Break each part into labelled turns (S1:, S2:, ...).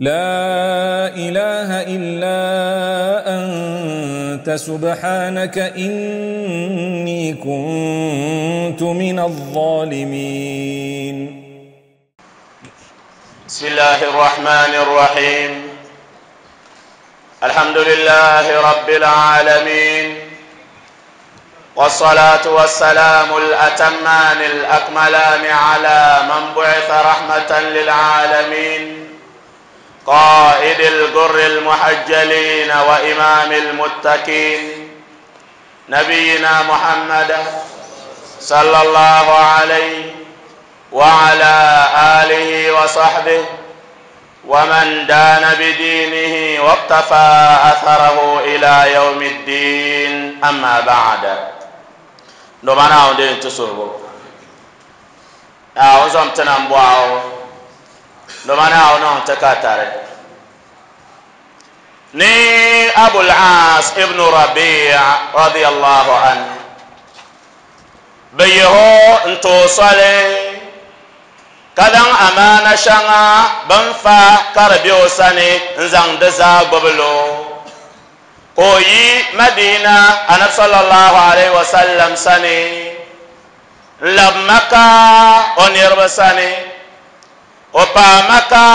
S1: لا إله إلا أنت سبحانك إني كنت من الظالمين.
S2: بسم الله الرحمن الرحيم. الحمد لله رب العالمين، والصلاة والسلام الأتمان الأكملان على من بعث رحمة للعالمين، قائد الجر المحجلين وإمام المتقين، نبينا محمد صلى الله عليه وعلى آله وصحبه ومن دان بدينه واقتفى أثره إلى يوم الدين. أما بعد، نبانا ودين تسربو أعوذ تنبواو نبانا ونون تكاتري ني أبو العاص ابن ربيع رضي الله عنه بيهو انتو صلي kadan amana shanga banfa karbiyo sani nzang da za gbablo ko yi Madina anab sallallahu alaihi wasallam sani lab Maka onirba sani o pa Maka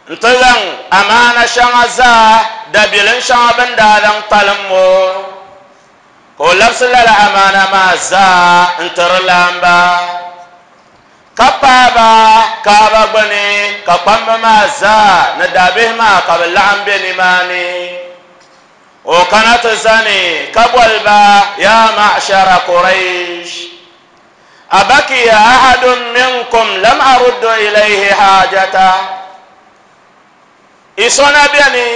S2: ntazang amana shanga za dabilin shanga bandalang talammo ko labsalala amana ma za ntarlamba kapaba kaba gbani ka kpamba maa zaa ni daabihi maa ka bi laɣim be nimaani o kana ti zani ka boli ba ya ma'shara Quraysh abakiya ahadun minkum lam aruddu ilayhi haajata isona beni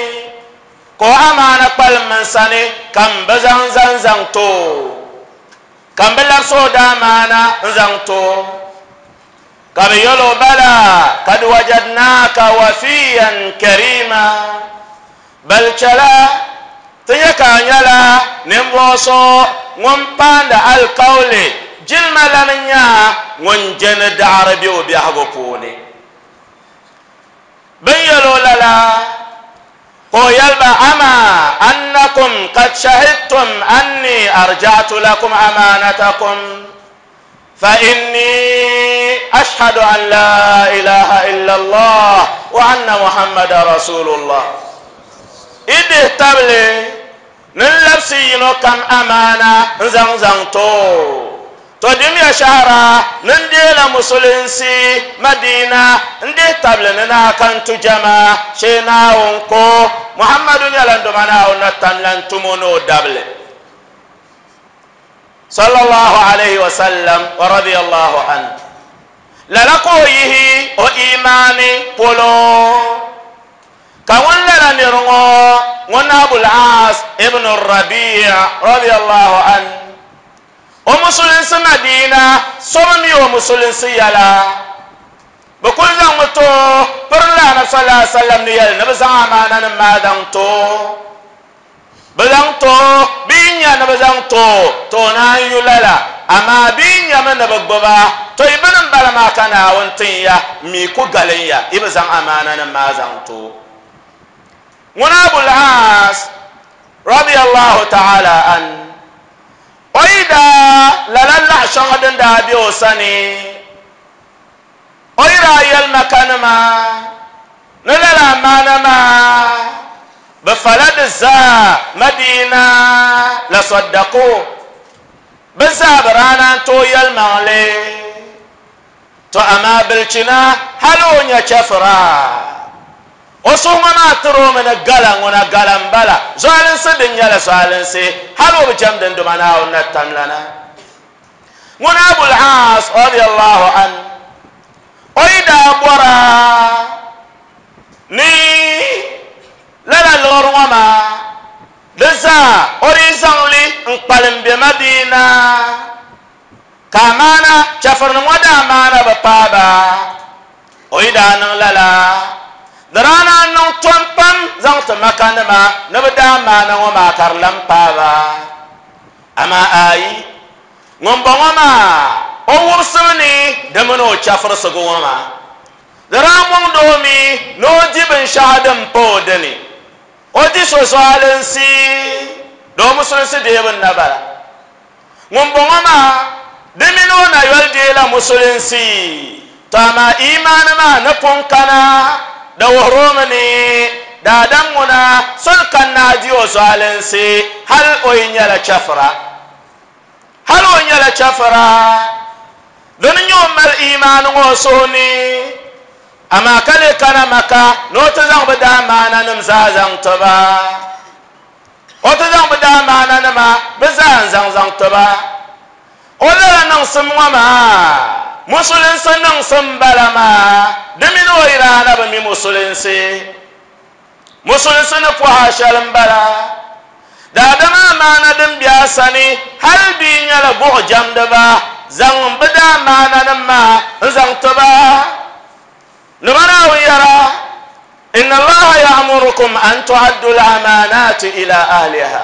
S2: ko amaana kpalim n sani ka n bi zaŋ zaŋ zaŋ to ka n bi labisi o daamaana n zaŋ to كبيلو بلى قد وجدناك وفيا كريما بل چلا تيكا نيلا نمبوسو ŋun القول جلما لنيا ŋun jeni daɣari be o biɛhigu puuni bin yɛlo lala ko yɛliba ama annakum qad shahidtum anni arja'tu lakum amanatakum فإني أشهد أن لا إله إلا الله وأن محمد رسول الله. إذ تبلي من لبسي كم أمانة زنزن تو تدم يا شهرة نديل مسلمسي مدينة ندي تبلي ننا كنت جما شينا ونكو محمد يلندو منا ونتملن تمونو دبلي صلى الله عليه وسلم ورضي الله عنه. للقويه وإيماني بولو كون لنا نرغو ونابو العاص ابن الربيع رضي الله عنه ومسلم مدينة صممي ومسلم سيالا بكل زمتو برلا صلى الله عليه وسلم نيال نبزا أمانا ما دمتو بزانتو بينيا نبزانتو تو نان يلالا اما بينيا من نبغبا تو ابن بلا ما كان وانتيا ميكو غاليا ابزان امانا ما زانتو ونابو العاص رضي الله تعالى عن وإذا للا شغدن دابي وسني وإذا يلمكان ما نلالا ما نما بفلد زا مدينة لصدقوا بزابرانا تو يلمالي تو أما بالچنا هلو نيا وسوما ما ترو من الغلان ونا غلان بلا زالن سدن يلا زالن سي هلو بجمدن دمانا ونتملنا ونا أبو العاص رضي الله عنه وإذا برا ني lala lɔɔri ŋɔ maa di zaa o di zaŋli n kpalim be Madina ka amaana chɛfurinim ŋɔ daa amaana bi paaba o yi daa niŋ lala di daa naan niŋ tom pam zaŋ ti Maka nima ni bi daa amaana ŋɔ maa ka di lan paaba amaa ayi ŋun bɔŋɔ maa o wubisimi ni di mini o chɛfurisigu ŋɔ maa di daa mɔŋdi o mi ni o binshɛɣu din pa o dini, o di so zualinsi, di o musulinsi deebu n-na bala. Ŋumbɔŋɔ maa, di mini o na yoli deela musulinsi, tɔ amaa iimaani maa ni pun kana, di wuhiri o mi ni daadam ŋuna soli kanna a di o zualinsi hal o yi nyɛla chɛfira. Hal o nyɛla chɛfira, di ni nyɛ o mali iimaani ŋɔ o suhu ni, amaa ka lee kana Maka ni o ti zaŋ bɛ daamaananim zaa zaŋ ti ba. O ti zaŋ bɛ daamaananima bɛ zaa n-zaŋ zaŋ ti ba. O lala niŋsim ŋɔ maa, Musulinsi niŋsim m-bala maa, di mini o yi daa na bi mi Musulinsi. Musulinsi ni pɔha shɛli m-bala. Daadama amaana din be a sani hal bɛ yi nyɛla buɣijɛmdiba, zaŋm bɛ daamaananim maa n-zaŋ ti ba. Ni ba Naawuni yɛra, Inna Allaha ya'murukum an tu'addu al-amaanaati ila ahliha.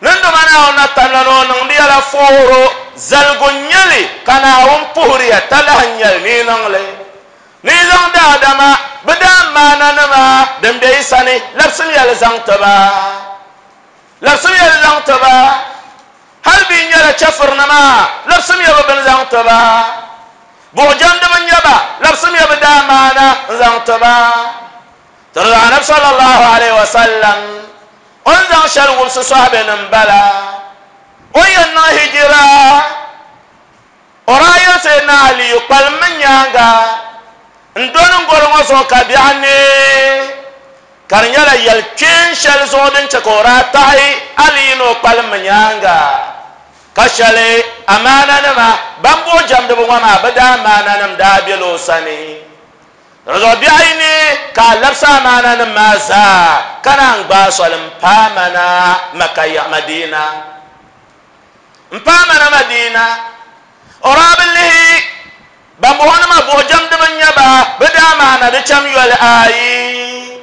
S2: Ninduma Naawuni na tamla ni o niŋdi ya la fooro, zaligu n-nyɛ li ka Naawuni puhiri ya talahi n-nyɛ li ni yi niŋ li. Ni yi zaŋ daadama bɛ daamaananima din be yi sani labisimiya li zaŋ ti ba. Labisimiya li zaŋ ti ba. Hal bɛ yi nyɛla chɛfurinima, labisimiya bɛ bini zaŋ ti ba. Buɣujɛmdiba n-nyɛ ba, labisimiya bɛ daamaana n-zaŋ ti ba. Ti di Anabi sallallahu alaihi wasallam o ni zaŋ shɛli wumsi sɔhibenim bala, o ni yɛn niŋ hijira, O daa yɛli Sayyidina Aliyu, Kpalimmi n nyaaŋa n-doni n goli ŋɔ zuɣu ka biɛɣu neei, ka di nyɛla yɛl kpeen shɛli zuɣu din chɛ ka o daa taɣi Aliyu ni o kpalimmi nyaaŋa, ka shɛli amaananima ban buɣi jɛmdiba ŋɔ maa bɛ daa amaananim daa bela o sani. Di zuɣu biɛɣu yi neei ka a labisi amaananim maa zaa ka naan gbaai soli m-paai ma na Maka yaɣa Madina. M paai ma na Madina, o daa bi lihi bambɔŋɔnima buɣijɛmdiba n-nyɛ ba, bɛ daa maana di cham yoli ayi.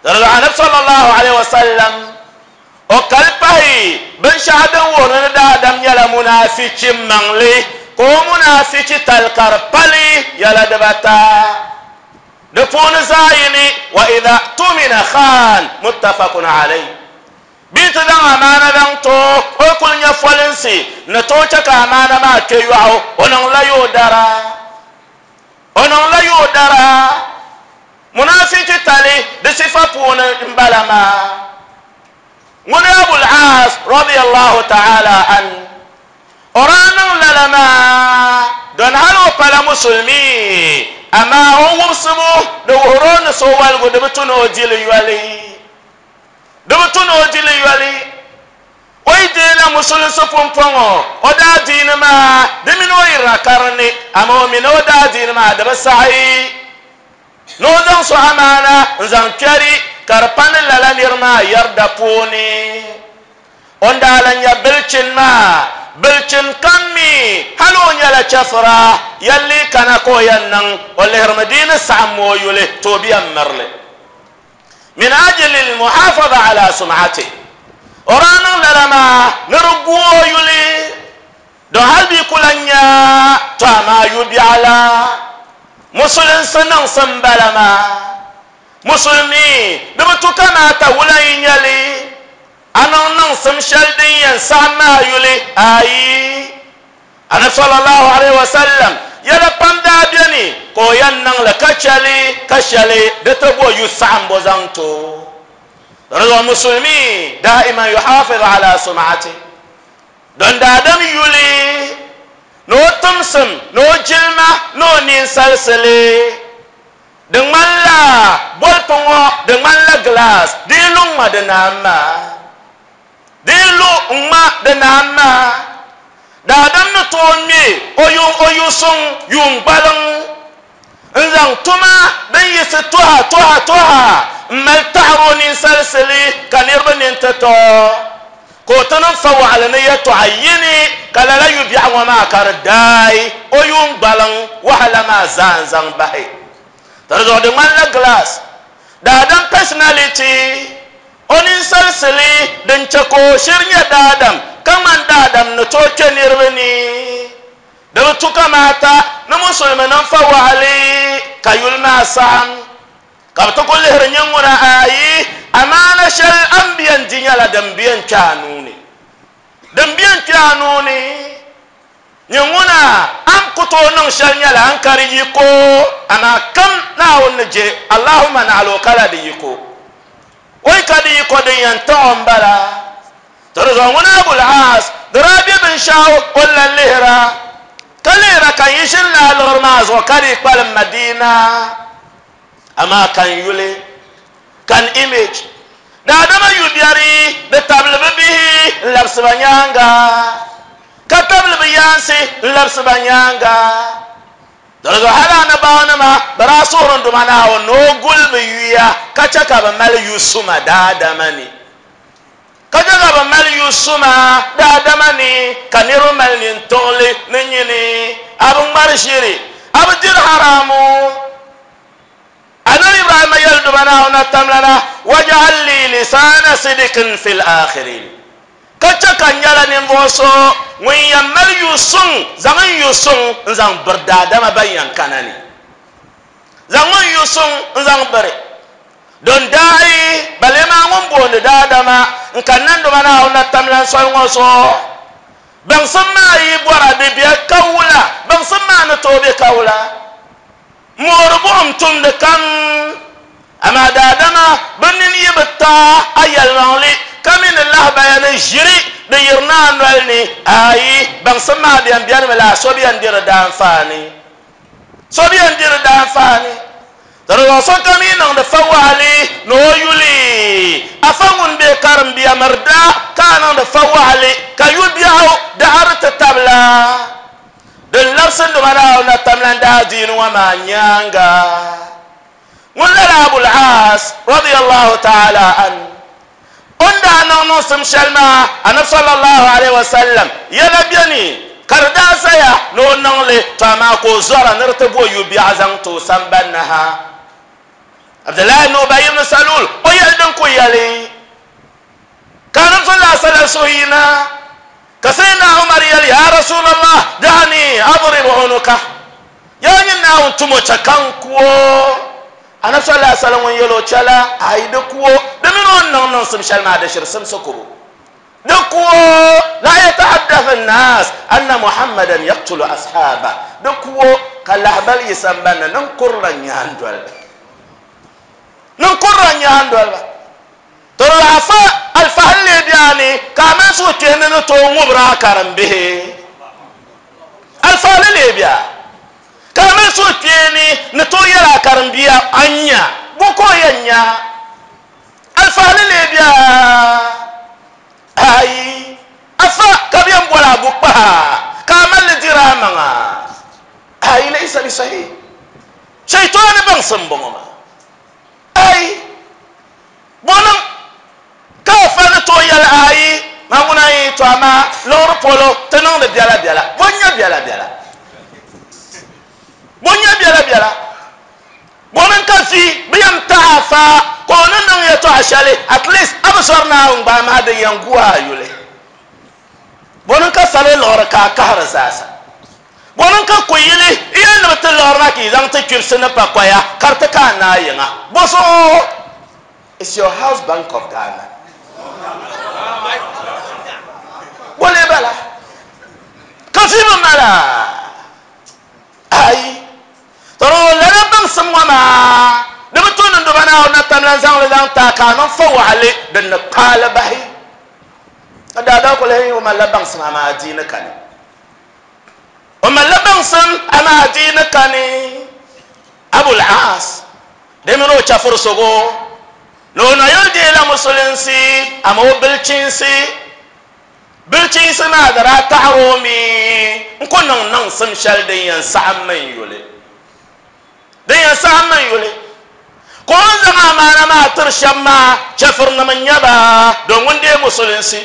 S2: Di zuɣu Anabi sallallahu alaihi wasallam o kali pahi binshɛɣu din wuhiri ni daadam nyɛla munaafichi maŋli, ka o munaafichi tali ka di pali yɛla dibata. Di puuni zaɣiyini, wa idha tumina khaan, muttafaqun alayhi. Bɛ yi ti zaŋ amaana zaŋ ti o, o yi kuli nya folinsi ni tooi chɛ ka amaana maa kpe yɔɣu, o niŋla yoodara. O niŋla yoodara. Munaafichi tali di sifa puuni m-bala maa. Ŋuni Abul Aas radiyallahu ta'ala an, o daa niŋ lala maa don hali o pala musulmi, amaa o wumsibu di wuhiri o ni so waligu di bi tu ni o di li yoli. Di bi tu ni o di li yoli. O yi deela musulinsi pumpɔŋɔ o daadiini maa, di mini o yirina ka di ni, amaa o mi ni o daadiini maa di bi saɣi ni o zaŋ so amaana n-zaŋ kpɛri ka di pa ni lala nir maa yɛrida puuni. O ni daa lan nya bilchin maa, bilchin kam mi hal o nyɛla chɛfira, yɛlli kana ka o yɛn niŋ, o lihirimi di ni saɣim o yuli, to o bi yɛn miri li. Min ajli al-muhafaza ala sum'atihi, o daa niŋ lala maa ni di gu o yuli, don hali bɛ ku lan nya tɔ amaa yu biɛɣu la musulinsi niŋsim m-bala maa. Musulimi, di bi tu kamaata wula yi nya li, a niŋ niŋsim shɛli din yɛn saɣim maa yuli? Aai! Anabi sallallahu alaihi wasallam yɛla pam daa beni ka o yɛn niŋ li ka chɛ li ka shɛli di ti bo yu saɣimbu zaŋ ti o. Di zuɣu musulimi daiman yuhafiz ala sum'ati, don daadam yuli ni o timsim ni o jilima ni o ninsalisili di ŋmanila bolpu ŋɔ di ŋmanila glass di yi lu ŋma di naan maa. Di yi lu ŋ-ŋma di naan maa, daadam ni tooi ŋme o yuŋ o yu suŋ yuun gbaliŋ n-zaŋ tuma din yiɣisi tɔha tɔha tɔha m-mali taɣiri o ninsalisili ka niriba nini ti to ka o ti niŋ fawaɣili ni yɛtɔɣa yini ka lala yu biɛɣu ŋɔ maa ka di daai o yuun gbaliŋ wahala maa zaa n-zaŋ bahi. Di zuɣu di ŋmanila glass daadam personality. O ninsalisili din chɛ ka o shiri nyɛ daadam ka ŋmani daadam ni tooi kpe niriba ni. Di bi tu kamaata ni musulimi niŋ fa waɣili ka yuli maa saɣim. Ka bɛ ti ku lihiri nyin ŋuna ayi, amaana shɛli a ni bi yɛn di nyɛla din bi yɛn kpe a nuu ni. Din bi yɛn kpe a nuu ni, nyin ŋuna a ni ku tooi niŋ shɛli nyɛla a ni ka di yiko, amaa kam Naawuni ni je, Allahumma naɣila o kala di yiko. O yi ka di yiko din yɛn taɣ o m-bala. To di zuɣu ŋuna Abul Aas di daa be binshɛɣu o ni lan lihira, ka lihira ka yi ʒini lala liɣiri maa zuɣu ka dii kpalim Madina. Amaa ka n yuli, ka n image, daadama yu biɛri di tabili bɛ bihi n-labisi ba nyaaŋa, ka tabili bɛ yaansi n-labisi ba nyaaŋa. Di zuɣu hali anabaawanima bɛ daa suhiri n Duuma Naawuni ni o guli bɛ yuya ka chɛ ka bɛ mali yu suma daadama ni. Ka chɛ ka bɛ mali yu suma daadama ni, ka niriba mali nintiɣili ni nyini. A bi ŋmari ʒiri, a bi diri haramu. Anabi Ibrahima yɛli Duuma Naawuni Atamlana, Waj'al li lisaana sidikin fil akhirin. Ka chɛ ka n nyɛla ninvuɣ so ŋun yɛn mali yu suŋ zaŋ n yu suŋ n-zaŋ biri daadama ban yɛn kana ni. Zaŋ n yu suŋ n-zaŋ biri. Don daai ba lee maa ŋun booni daadama n-kanna n Duuma Naawuni na tamlan soli ŋɔ zuɣu. Baŋsim maa yi bɔra di be ka wula? Baŋsim maa ni tooi be ka wula? Moori buɣim tumdi kam, amaa daadama bɛ nini yi bi taai a yɛlimaŋli ka mi ni lahibaya ni ʒiri di yirina a noli ni, aai, baŋsim maa bɛn benimi la, so bi yɛn di di daanfaani. So bi yɛn di di daanfaani. Di zuɣu sokam yi niŋdi fawaɣili ni o yuli afa ŋun be karimbiya miri daa ka a niŋdi fawaɣili ka yu biɛɣu daɣiri ti tabila. Din labisi Duuma Naawuni na tamlan daadiini ŋɔ maa nyaaŋa, ŋun lala Abul Aas radiyallahu ta'ala anhu o ni daa niŋ niŋsim shɛli maa Anabi sallallahu alaihi wasallam yɛla beni ka di daa zaya ni o niŋ li, to amaa ka o zɔra ni di ti bo yu biɛɣu zaŋ ti o sambani ni ha. Abdullahi ibn Ubay ibn Salul o yɛli din ku yɛli ka Anabi sallallahu alaihi wasallam suhu yina ka Sayyidina Umar yɛli, Ya Rasulallah, da'ani adrib unuka, yaa nyin Naawuni tumo chɛ ka n ku o. Anabi sallallahu alaihi wasallam ŋun yɛli o chɛla, ayi di ku o, di mini o ni niŋ niŋsim shɛli maa di shiri simsi kubu. Di ku o, la yatahaddathu an-nas anna Muhammadan yaqtulu ashaba, di ku o ka lahibali yi sambani ni niŋ kurila nyaandoliba. Niŋ kurila nyaandoliba. To di lahi fa alfahinli biɛni ka a mali suhukpeeni ni tooi ŋubiri a karimbihi. Alfahinli lee bia ka a mali suhukpeeni ni tooi yɛli a karimbia a nya bo ka o yɛn nya. Alfahinli lee bia ayi afa ka bɛ yɛn boli a bukpaha ka a mali li diri a maŋa. Ayi laysa bi sahih. Shaitani baŋsim m-bɔŋɔ maa. Ayi, bɔ niŋ ka a fa ni tooi yɛli ayi, maa ŋuna yi to amaa liɣiri polo ti niŋdi biɛla biɛla. Bɔ n-nyɛ biɛla biɛla? Bɔ n-nyɛ biɛla biɛla? Bɔ niŋ ka vi bi yɛn tahi a fa ka o ni niŋ yɛtɔɣa shɛli at least a bi zɔri Naawuni gba amaa din yɛn gu a yuli. Bɔ niŋ ka salo liɣiri ka a kahiri zaasa? Bɔ niŋ ka kuyili yɛli ni bɛ ti liɣiri na ka yi zaŋ ti kpibisi ni pakoya ka di ti ka a naai yiŋa? Bɔ zuɣu? It's your house Bank of Ghana. Bɔ lee bala? Ka vi bi mali a? Ayi. To lala baŋsim ŋɔ maa di bi tu ni Duba Naawuni na tam lan zaŋ li zaŋ ti a ka a niŋ fawaɣili din ni kpaai li bahi. Ka daadaa ku lahi o malila baŋsim amaa adiini kani. O malila baŋsim amaa adiini kani. Abul Aas di mini o chɛfurisogo ni o nayili deela musulinsi amaa o bilchinsi bilchinsi maa di daa taɣiri o mi n-ku niŋ niŋsim shɛli din yɛn saɣim mi n-yuli. Din yɛn saɣim mi n-yuli. Ka o ni zaŋ amaana maa tiri shɛba maa, chɛfirinim n-nyɛ ba, don ŋun deei musulinsi.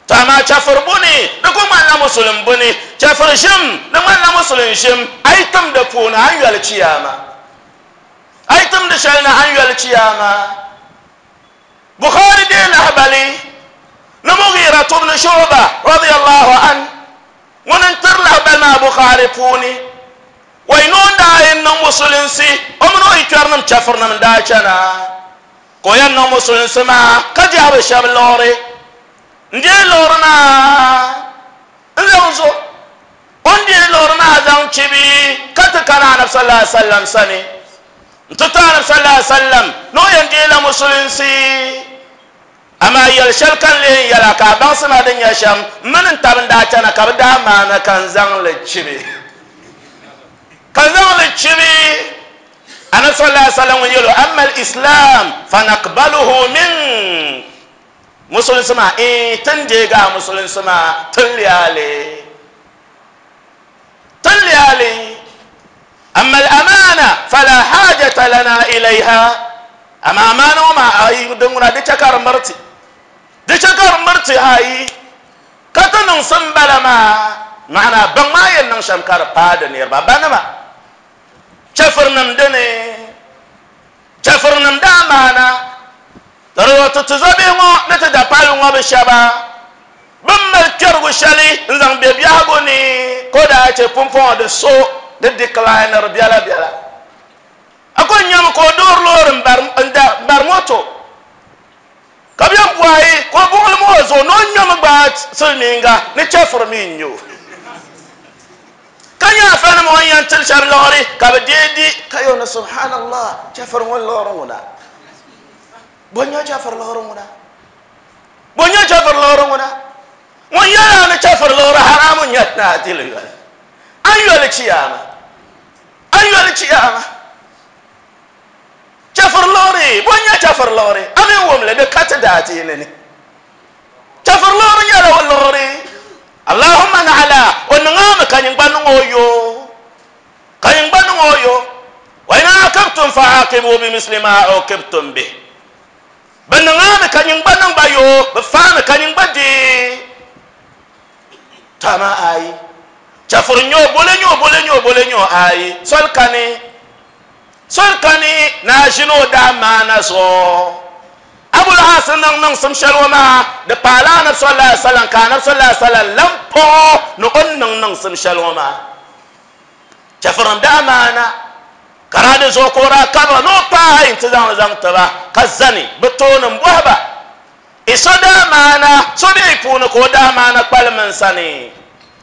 S2: Tɔ amaa chɛfiri buni, di ku ŋmanila musulin buni. Chɛfiri ʒim, di ŋmanila musulin ʒim. A yi tim di puuni, a ni yoli chiyaama. A yi tim di shɛli ni, a ni yoli chiyaama. Bukhari deei lahibali ni Mughira ibn Shu'ba radiyallahu anhu ŋuni n-tiri lahibali maa Bukhari puuni. Wai ni o ni daa yɛn niŋ musulinsi, o mini o yikpɛrinim chɛfirinim n-daa chana, ka o yɛn niŋ musulinsi maa ka diɛhi bi shɛba liɣiri. N-deei liɣiri maa n-zaŋ zo. O ni deei liɣiri maa zaŋ chibi ka ti kana Anabi sallallahu alaihi wasallam sani n-ti ti Anabi sallallahu alaihi wasallam ni o yɛn deei la musulinsi. Amaa yɛl shɛli ka n lee yɛn yɛl a ka a baŋsi ma din nyɛ shɛm, m mini n tab n-daa chana ka bɛ daa maana ka n zaŋ li chibi. Ka n zaŋ li chibi. Anabi sallallahu alaihi wasallam ŋun yɛl o, Amma al-Islam fa naqbaluhu mink. Musulinsi maa, Iin, ti ni deegi a musulinsi maa, ti ni leei a li. Ti ni leei a li. Amma al-amana fala hajata lana ilayha. Amaa amaana ŋɔ maa, ayi, din ŋuna di chɛ ka di miri ti. Di chɛ ka di miri ti, ayi, ka ti niŋsim bala maa, maana baŋ maa yɛn niŋ shɛm ka di paai di niriba banima, chɛfirinim dini, chɛfirinim daa maana. Di zuɣu ti tizɔbihi ŋɔ ni ti dapali ŋɔ bi shɛba bɛ ni mali kpɛrigu shɛli n-zaŋ be biɛhigu ni ka o daa chɛ pumpɔŋɔ di so di decliniri biɛlabiɛla. A kuli nyami ka o doori loori m-bari moto ka bɛ bɔhi ka o buɣilim o zuɣu ni o ŋmɛmi gbaai silimiinga ni chɛfuri mi n-nyɛ o. Ka nyɛ afanim o ni yɛn tiri shɛba liɣiri ka bɛ deei di ka yɛli ni subhanallah chɛfuri ŋɔ liɣiri ŋuna. Bɔ n-nyɛ chɛfuri liɣiri ŋuna? Bɔ n-nyɛ chɛfuri liɣiri ŋuna? Ŋun yɛli a ni chɛfuri liɣiri haramu n-nyɛ ni a di li yoli. A ni yoli chiyaama. A ni yoli chiyaama. Chɛfuri liɣiri, bɔ n-nyɛ chɛfuri liɣiri? A mi wum li, di ka ti daadiini ni. Chɛfuri liɣiri nyɛla o liɣiri. Allahumma naɣila o niŋ a mi ka nyin gba niŋ o yo. Ka nyin gba niŋ o yo. Wa in aqabtum fa aqibu bi misli ma uqibtum bih. Bɛ niŋ a mi ka nyin gba niŋ ba yo, bɛ faami ka nyin gba deei. To amaa ayi, chɛfuri n-nyɛ o, bole n-nyɛ o, bole n-nyɛ o, bole n-nyɛ o, ayi, soli kani. Soli kani ni a ʒini o daa maana zuɣu. Abul Aas ni niŋ niŋsim shɛli ŋɔ maa, di paala Anabi sallallahu alaihi wasallam ka Anabi sallallahu alaihi wasallam lan paɣ o ni o ni niŋ niŋsim shɛli ŋɔ maa. Chɛfurinim daa maana ka daa di zuɣu ka o daa kabiri ni o paai nti zaŋ li zaŋ ti ba ka zani bɛ tooni m-bɔhi ba, I so daa maana so bɛ yi puuni ka o daa maana kpalim n sani?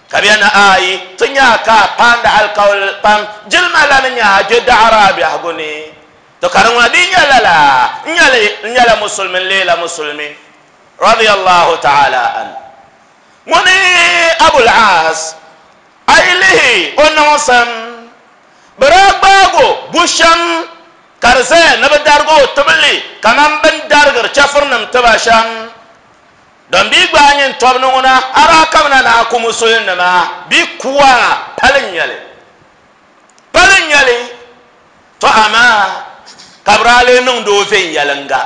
S2: Ka bɛ na ayi ti nya ka a paandi alikauli pam jilima la ni nya a je daɣiri a biɛhigu ni. To ka di ŋuna di nyɛ lala, n nyɛli n nyɛla musulimi n leela musulimi. Radiyallahu ta'ala an. Ŋuni Abul Aas, a yi lihi o niŋsim, bɛ daa gbaag o bu shɛm ka di zaya ni bɛ darigi o tibili kaman bɛ ni darigiri chɛfurinim tiba shɛm. Don bɛ yi gbaai nyin tɔbu ni ŋuna, a daa kamina ni a ku musulinima bɛ ku a, pali n-nyɛ li. Pali n-nyɛ li. Tɔ amaa ka bɛ daa lee niŋdi o viɛnyɛliŋga.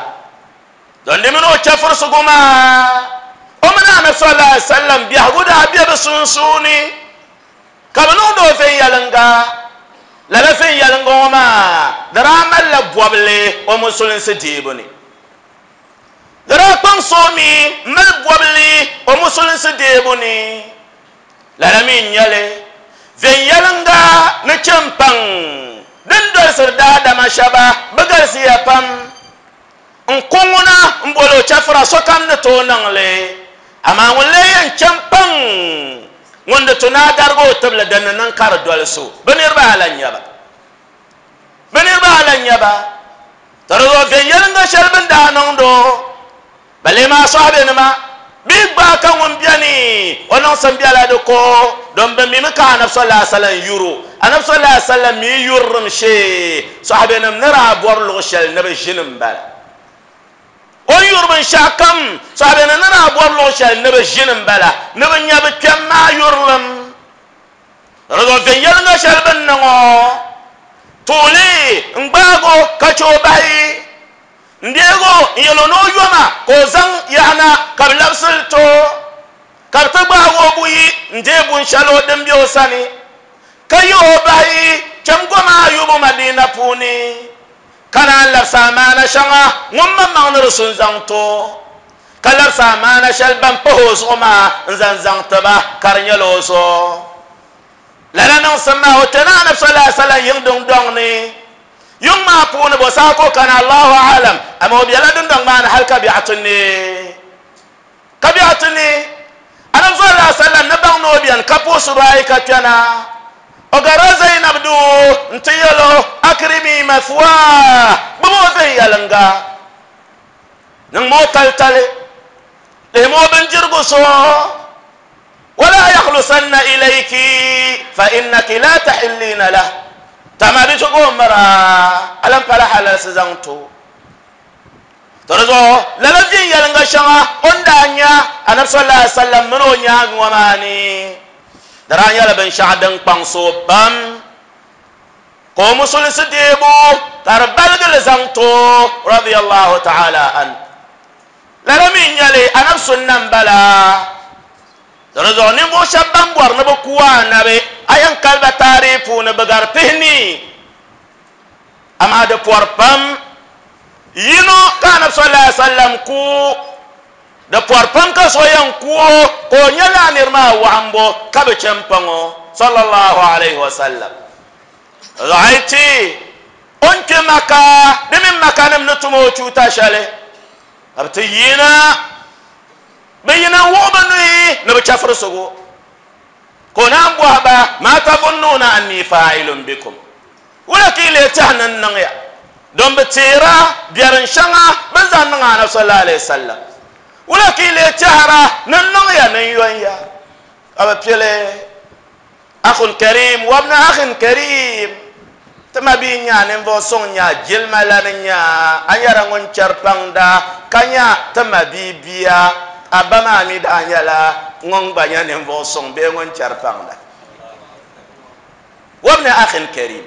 S2: Don di mini o chɛfurisigu maa, o mini Anabi sallallahu alaihi wasallam biɛhigu daa be bɛ sunsuuni, ka bɛ niŋdi o viɛnyɛliŋga. Lala viɛnyɛliŋga ŋɔ maa di daa malila bɔbili o musulinsi deebu ni. Di daa kpaŋsi o mi m-mali bɔbili o musulinsi deebu ni. Lala mi n-nyɛ li, viɛnyɛliŋga ni chɛ m-paŋ din dolisiri daadama shɛba bɛ galisiya pam. N ku ŋuna m-boli o chɛfura sokam ni tooi niŋ li, amaa ŋun lee yɛn chɛ m-paŋ ŋun di tu ni a darigi o tibili din ni niŋ ka di doli so, bɛ niriba ala n-nyɛ ba. Bɛ niriba ala n-nyɛ ba. To di zuɣu viɛnyɛliŋga shɛli bɛ ni daa niŋd o, bɛ lee maa sɔhibenima bɛ yi gbaai ka ŋun beni o niŋsim bela di ko, don bɛ mimi ka Anabi sallallahu alaihi wasallam yur o. Anabi sallallahu alaihi wasallam mi yurilim shee sɔhibenim ni daa bɔri luɣ shɛli ni bɛ ʒini m-bala. O ni yuri binshɛɣu kam sɔhibenim ni daa bɔri luɣ shɛli ni bɛ ʒini m-bala ni bɛ nya bɛ kpɛm maa yurilim. Di zuɣu viɛnyɛliŋga shɛli bɛ ni niŋ o tuuli n-gbaag o ka chɛ o bahi. N deeg o n-yɛl o ni o yoma ka o zaŋ yaɣa na ka bɛ labisi li ti o, ka bɛ ti gbaag o buyi n-deei bun shɛli o din be o sani, ka yih o bahi cham goma ayubu Madina puuni, ka naan labisi amaana shɛŋa ŋun maŋmaŋ ni di su n-zaŋ ti o, ka labisi amaana shɛli ban pahi o zuɣu maa n-zaŋ zaŋ ti ba ka di nyɛla o zuɣu. Lala niŋsim maa o kpɛna Anabi sallallahu alaihi wasallam yiŋ dundɔŋ ni. Yuŋ maa puuni bo saha ka o kana Allahu a'lam, amaa o bela dundɔŋ maa ni hali ka biɛɣu ti neei. Ka biɛɣu ti neei, Anabi sallallahu alaihi wasallam ni baŋ ni o beni ka puhi subahi ka kpɛna, o garila Zainab duu nti yɛl o, Akrimi mathwah, gbubi o viɛnyɛliŋga, niŋmi o talitali, lihimi o bindirigu so. Wala yakhlusanna ilayki fa innaki la tahillina lah. Tama di zuɣu o mira a lan pala halalsi zaŋ ti o. To di zuɣu lala viɛnyɛliŋga shɛŋa o ni daa nya Anabi sallallahu alaihi wasallam mini o nyaaŋa ŋɔ maa ni, di daa nyɛla binshɛɣu din kpaŋsi o pam ka o musulinsi deebu ka di baligi li zaŋ ti o radiyallahu ta'ala anhu. Lala mi n-nyɛ li, Anabi sunna m-bala. Di zuɣu ninvuɣ shɛb ban bɔri ni bɛ ku Anabi, a yɛn kali ba taarihi puuni bɛ gari pihinii. Amaa di pɔri pam. Yino ka Anabi sallallahu alaihi wasallam ku, di pɔri pam ka so yɛn ku o ka o nyɛ lala nir maa waɣimbu ka bi chɛ m-paŋ o sallallahu alaihi wasallam. Di zuɣu a yi ti o ni kpe Maka, di mini Makanim ni tum o chuuta shɛli, ka bɛ ti yina, bɛ yina n-wuɣi bɛ nuhi ni bɛ chɛfirisigu. Ka o naan bɔhi ba, Maa tazunnuuna annii faa'ilun bikum? Wula ka yi leei tɛhi ni n niŋ ya? Don bɛ teera biɛrin shɛŋa bɛ ni zaŋ niŋ Anabi sallallahu alaihi wasallam. Wula ka yi leei tɛhira ni n niŋ ya ni n yon ya? Ka bɛ pili. Akhun karim wabna akhin karim, ti ma bia nya ninvuɣ suŋ nya jilima lani nya a nyɛla ŋun chɛri paŋda ka nya ti ma bia bia, a ba maa mi daa nyɛla ŋun gba nya ninvuɣ suŋ bee ŋun chɛri paŋda. Wabna akhin karim,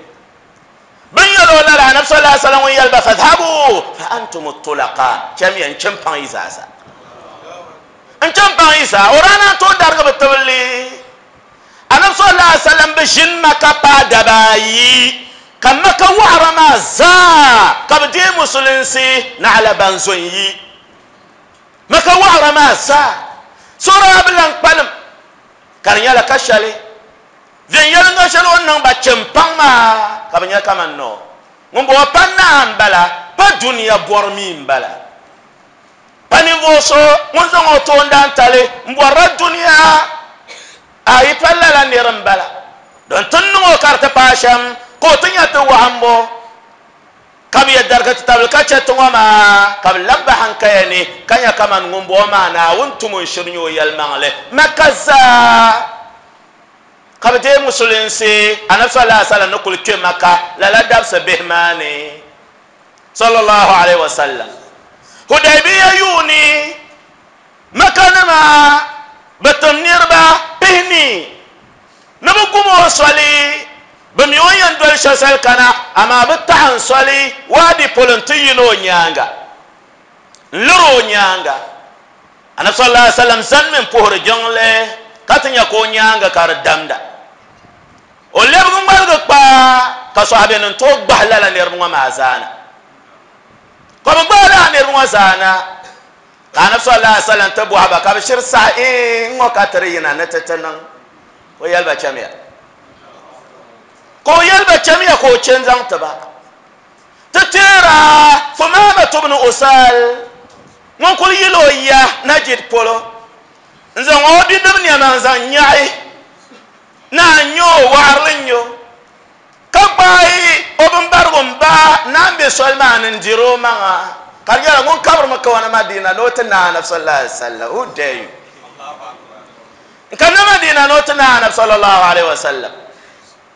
S2: bɛ ni yɛl o lala, Anabi sallallahu alaihi wasallam ŋun yɛli ba, Fadhhabu fa antum tulaqa, chamiya n-chɛ m-paŋ yi zaasa. N-chɛ m-paŋ yi zaa. O daa naan tooi darigi bɛ tibili. Anabi sallallahu alaihi wasallam bi ʒini Maka paai daba ayi, ka Maka waɣira maa zaa ka bɛ deei Musulinsi naɣila ban zo n-yi. Maka waɣira maa zaa, so daa bi lan kpalim, ka di nyɛla ka shɛli viɛnyɛliŋga shɛli o ni niŋ ba chɛ m-paŋ maa ka bɛ nya kaman noo ŋun bɔŋɔ pa naa m-bala, pa dunia bɔri mi m-bala. Pa ninvuɣ so ŋun zaŋ o toondaantali m-bɔrila dunia, a yi pa lala nir m-bala. Din ti niŋ o ka di ti paai shɛm, ka o ti nya ti wɔhimbu, ka bɛ yɛn darigi ti tabili ka chɛ ti ŋɔ maa, ka bɛ lab ba haŋkaya ni, ka nya kaman ŋumbɔŋɔ maa Naawuni tum n shiri nyɛ o yɛlimaŋli Mɛkka zaa. Ka bɛ deei Musulinsi Anabi sallallahu alaihi wasallam ni kuli kpe Mɛkka lala dabisi bihi maa ni. Sallallahu alaihi wasallam. Hudaybiya yuuni, Maka nima bɛ tim niriba pihinii ni bɛ gum o soli, bɛ mi o ni yɛn doli shɛli soli kana, amaa bɛ taɣi n soli waadi polo nti yina o nyaaŋa, n-liri o nyaaŋa. Anabi sallallahu alaihi wasallam zanimi m-puhiri jiŋli ka ti nya ka o nyaaŋa ka di damda. O lɛbigi ŋmaligi kpa ka sɔhibenim tooi gbahi lala niriba ŋɔ maa zaa na. Ka bɛ gbahi lala niriba ŋɔ zaa na, ka Anabi sallallahu alaihi wasallam ti bɔhi ba ka bɛ shiri saɣi, Iin, ŋ-ŋɔ ka ti di yina ni ti ti niŋ. Ka o yɛli ba, Chamiya. Ka o yɛli ba, Chamiya ka o che n-zaŋ ti ba. Ti teera Thumamatu bnu Usal ŋun kuli yil o ya Najid polo n-zaŋ o bidib nɛma n-zaŋ nyaɣi Naa n-nyɛ o, waɣirili n-nyɛ o, ka gbaai o bimbarigu m-ba naa m-be soli maa ni n-diri o maŋa, ka di nyɛla ŋun kabirimi kawana Madina ni o ti naai Anabi sallallahu alaihi wasallam. Who dare you? N-kanna Madina ni o ti naai Anabi sallallahu alaihi wasallam,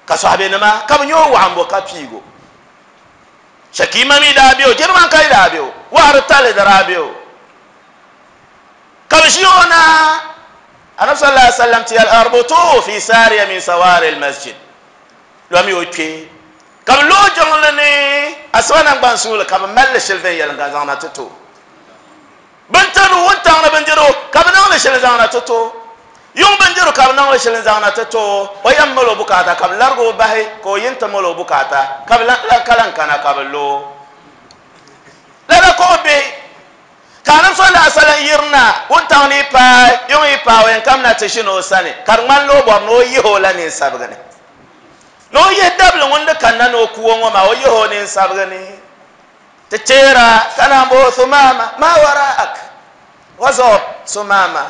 S2: ka sɔhibenima ka bɛ nyɛ o waɣimbo ka piigi o. Shakima mi daa be o, Jirimankai daa be o, waɣiri tali di daa be o. Ka bɛ ʒi o na, Anabi sallallahu alaihi wasallam ti yɛli, Arbutuhu fi sariya min sawari al-masjid, lomi o kpe. Ka bɛ lo o jiŋli ni asiba naŋgban suuli, ka bɛ mali li shili viɛnyɛliŋga n-zaŋ na ti ti o. Bɛ ni tiri wuntaŋ ni bindirigu, ka bɛ niŋ li shili n-zaŋ na ti ti o. Yuŋ bindirigu ka bɛ niŋ li shili n-zaŋ na ti ti o. O yɛn mali o bukaata, ka bɛ larigi o bahi, ka o yi nti mali o bukaata, ka bɛ lan kana ka bɛ lo o. Lala ka o be. Ka Anabi sallallahu alaihi wasallam yirina wuntaŋ ni yi paai, yuŋ yi paai o yɛn kamina ti ʒini o sani, ka di ŋmanila o bɔri ni o yihi o la ninsabigi ni. Ni o yihi dabili ŋun di kanna ni o ku o ŋɔ maa, o yihi o ninsabigi ni ti teera ka naan bo Thumama, ma waraak? What's up, Thumama?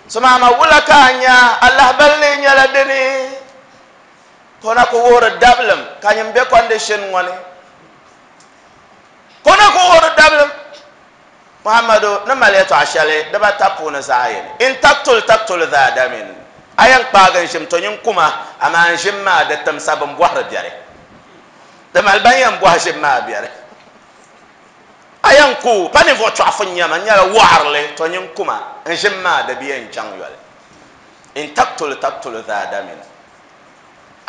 S2: Thumama wula ka a nya? A lahabali lee nyɛla dini? Ka o na ku wuhiri dabilim ka nyin be condition ŋɔ ni. Ka o na ku wuhiri dabilim. Muhammadu ni mali yɛtɔɣa shɛli dibata puuni zaɣ yini, In taktul taktul dha damin, a yɛn kpaagi n ʒim, to nyin kuma, amaa n ʒim maa di timsa bɛn bɔhiri biɛri. Di mali ban yɛn bɔhi ʒim maa biɛri. A yɛn ku pa ninvuɣ chɔɣifu n-nyɛ ma, n nyɛla wɔɣirili, to nyin kuma, n ʒim maa di bi yɛn chaŋ yoli. In taktul taktul dha damin.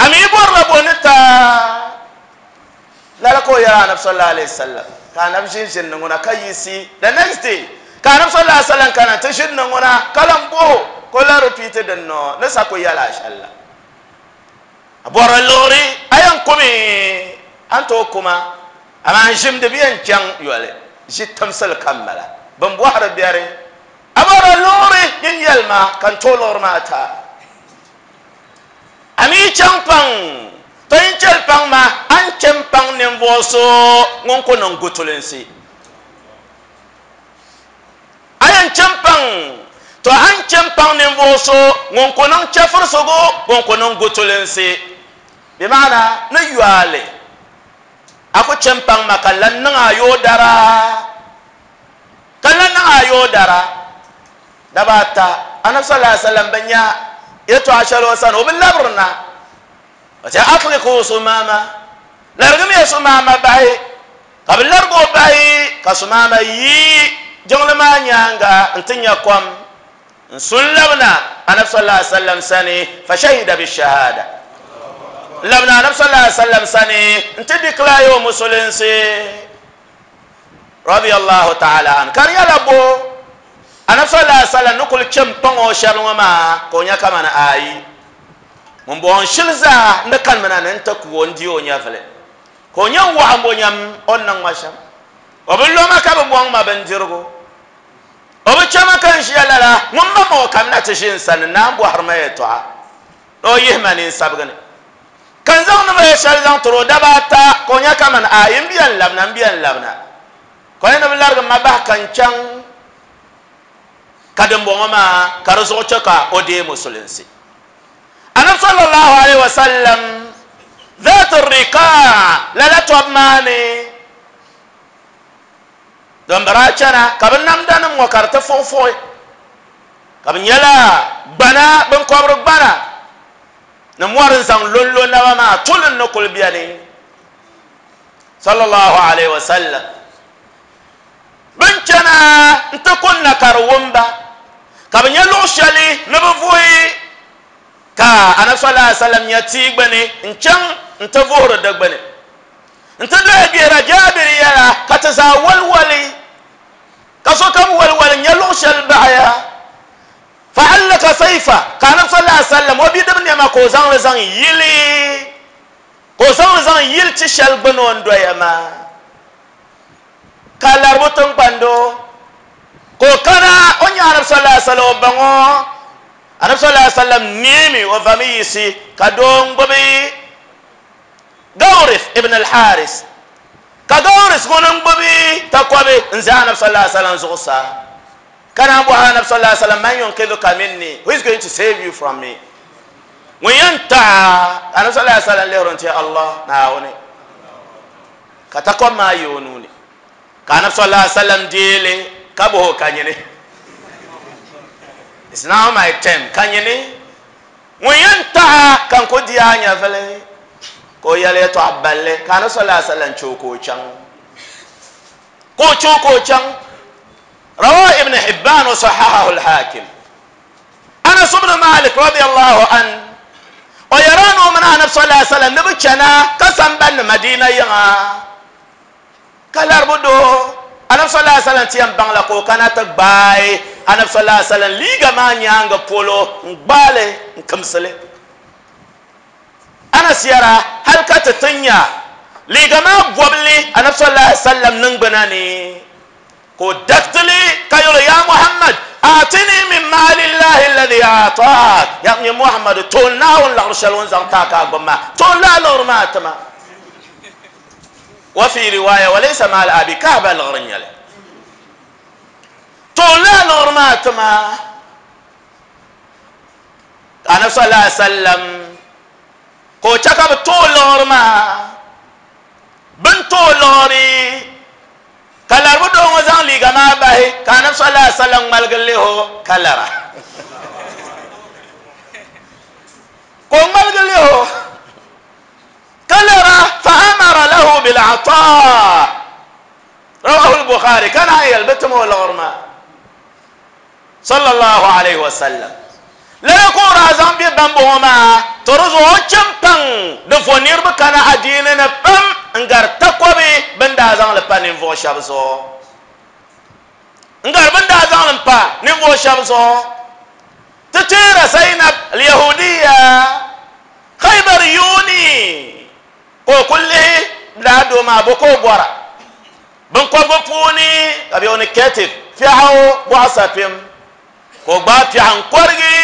S2: A mi bɔrila bo ni ta? Lala ka o yɛli Anabi sallallahu alayhi wasallam, ka Anabi ʒin ʒini ni ŋuna ka yiɣisi the next day, ka Anabi sallallahu alayhi wasallam kana ti ʒini ni ŋuna ka lan bɔh o, ka o lan repeat din nɔ ni sa ku yɛl a shɛli la. A bɔri liɣiri, a yɛn kumi, a ni tooi kuma, amaa n ʒim di bi yɛn chaŋ yoli, ʒi timsili ka m bala, bɛn bɔhiri biɛri. A bɔri liɣiri, nyin yɛlima ka n tooi liɣiri maa ti a. A mi yi chaŋ paŋ, to yin chɛli paŋ ma, a ni chɛ m-paŋ ninvuɣ so ŋun ku niŋ gutulinsi. A yɛn chɛ m-paŋ, to a ni chɛ m-paŋ ninvuɣ so ŋun ku niŋ chɛfirisigu, ŋun ku niŋ gutulinsi. Bɛ maana ni yɔali, a ku chɛ m-paŋ ma ka lan niŋ a yoodara, ka lan niŋ a yoodara. Daba ata, Anabi sallallahu alaihi wasallam bi nya yɛtɔɣa shɛli o sani, o bi labiri na. O ti atliqu Sumama, larigimiya Sumama bahi, ka bi larigi o bahi, ka Sumama yi jiŋli maa nyaaŋa n-ti nya kom n-su n-labina Anabi sallallahu alaihi wasallam sani, fa shahida bi shahada. N-labina Anabi sallallahu alaihi wasallam sani n-ti declare o musulinsi. Radiyallahu ta'ala anhu, ka di nyɛla bo Anabi sallallahu alaihi wasallam ni kuli chɛ m-paŋ o shɛli ŋɔ maa ka o nya kamani ayi ŋun bɔŋɔ n shili zaa n di kanimina ni n ti ku o n di o nyɛvili ka o nya n waɣa m-bo nyam o ni niŋ ma shɛm. O bi lo ma ka bi bɔŋ ma bindirigu. O bi chɛ ma ka n ʒiya lala ŋun ma ma o kamina ti ʒi n sani n-naan bɔhiri ma yɛltɔɣa ni o yihi ma ninsabigi ni. Ka n zaŋ ni ma ya shɛli zaŋ tiri o daba ata, ka o nya kaman ayi m bia n-labina, m bia n-labina. Ka o yɛn ni bi larigi ma bahi ka n chaŋ, ka dimbɔŋɔ maa ka di zuɣu chɛ ka o deei musulinsi. Anabi sallallahu alaihi wasallam Zaat Riqaa lala tɔbu maa ni, din bi daa chana ka bɛ namdanim ŋɔ ka di ti fuɣifuɣi, ka bɛ nyɛla gbana, biŋkɔbiri gbana. Ni mɔri n-zaŋ lonlo naba maa tulim ni kuli beni. Sallallahu alaihi wa sallam. Bɛ ni chana n-ti kunna ka di wum ba, ka bɛ nya luɣ shɛli ni bɛ vuhi, ka Anabi sallallahu alaihi wa sallam nya tia gbini n-chaŋ nti vuhiri di gbini. Nti doya gbihira Jaabir yɛla ka ti zaa waliwali, ka sokam waliwali nya luɣ shɛli baɣiya. Fa'allaka sayfa, ka Anabi sallallahu alaihi wasallam o bidib nɛma ka o zaŋ li zaŋ yili, ka o zaŋ li zaŋ yili ti shɛli gbini o ni doya maa, ka laribu tiŋgbando, ka o kana o nya Anabi sallallahu alaihi wasallam o baŋ o, Anabi sallallahu alaihi wasallam neemi o vami yiɣisi ka doo n-gbubi Gawrith ibn al-Haris, ka Gawrith ŋuni n-gbubi takɔbi n-ʒe Anabi sallallahu alaihi wasallam zuɣusaa. Ka naan bɔhi Anabi sallallahu alaihi wasallam, Man yunqidhuka minni? Who is going to save you from me? Ŋun yɛn taɣi a? Ka Anabi sallallahu alaihi wasallam lihiri n-ti Allah, Naawuni. Ka takɔbi maa yi o nuu ni. Ka Anabi sallallahu alaihi wasallam deei li ka bɔhi o, Ka nyini? It's now my turn. Ka nyini? Ŋun yɛn taɣi a ka n ku di a nyɛvili? Ka o yɛli yɛtɔɣa balli, ka Anabi sallallahu alaihi wasallam chɛ o ka o chaŋ. Ka o chɛ o ka o chaŋ. Rawahu Ibn Hibban wa sahahahu al-Hakim. Anas ibn Malik radiyallahu an o yɛra ni o mini Anabi sallallahu alaihi wasallam ni bi chana ka sambanni Madina yiŋa ka laribu doo Anabi sallallahu alaihi wasallam ti yɛn baŋ la ka o kana ti gbaai Anabi sallallahu alaihi wasallam liiga maa nyaanga polo n gbaali n kimsili. Anas yɛra, Hali ka ti ti nya liiga maa bɔbili Anabi sallallahu alaihi wasallam niŋgbuna ni. Ka o dariti li ka yɛl o, Yaa Muhammad, aatini min maalillahi alladhi a'taak. Ya nyɛ Muhammadu, to Naawuni laɣiri shɛli o ni zaŋ ti a ka a gbubi maa, to lala liɣiri maa ti ma. Wa fi riwaya, wa laysa maal abi, Kaaba liɣiri n-nyɛ li. To lala liɣiri maa ti ma. Ka Anabi sallallahu alaihi wasallam ka o chɛ ka bɛ tooi liɣiri maa. Bɛ ni tooi liɣiri ka laribu doo ŋɔ zaŋ liiga maa bahi ka Anabi sallallahu alaihi wasallam ŋmaligi lihi o ka lara. Ka o ŋmaligi lihi o ka lara fa amara lahu bil ataa. Rawahu al-Bukhari ka naan yɛli bɛ tim o liɣiri maa. Sallallahu alaihi wasallam. Lala ka o daa zaŋ bɛ bambɔŋɔ maa to di zuɣu o chɛ m-paŋ di vo niriba kana adiini ni pam n-gari takɔbi bɛ ni daa zaŋ li pa ninvuɣ shɛba zuɣu. N-gari bɛ ni daa zaŋ li m-pa ninvuɣ shɛba zuɣu. Ti teera Zainab al-Yahudiya Khaybar yuuni ka o kuli lihi lala doo maa bo ka o bɔra. Binkɔbigu puuni ka bɛ ni Ketif piɛɣu bɔɣu sapim, ka o gbaai piɛɣu n-kɔrigi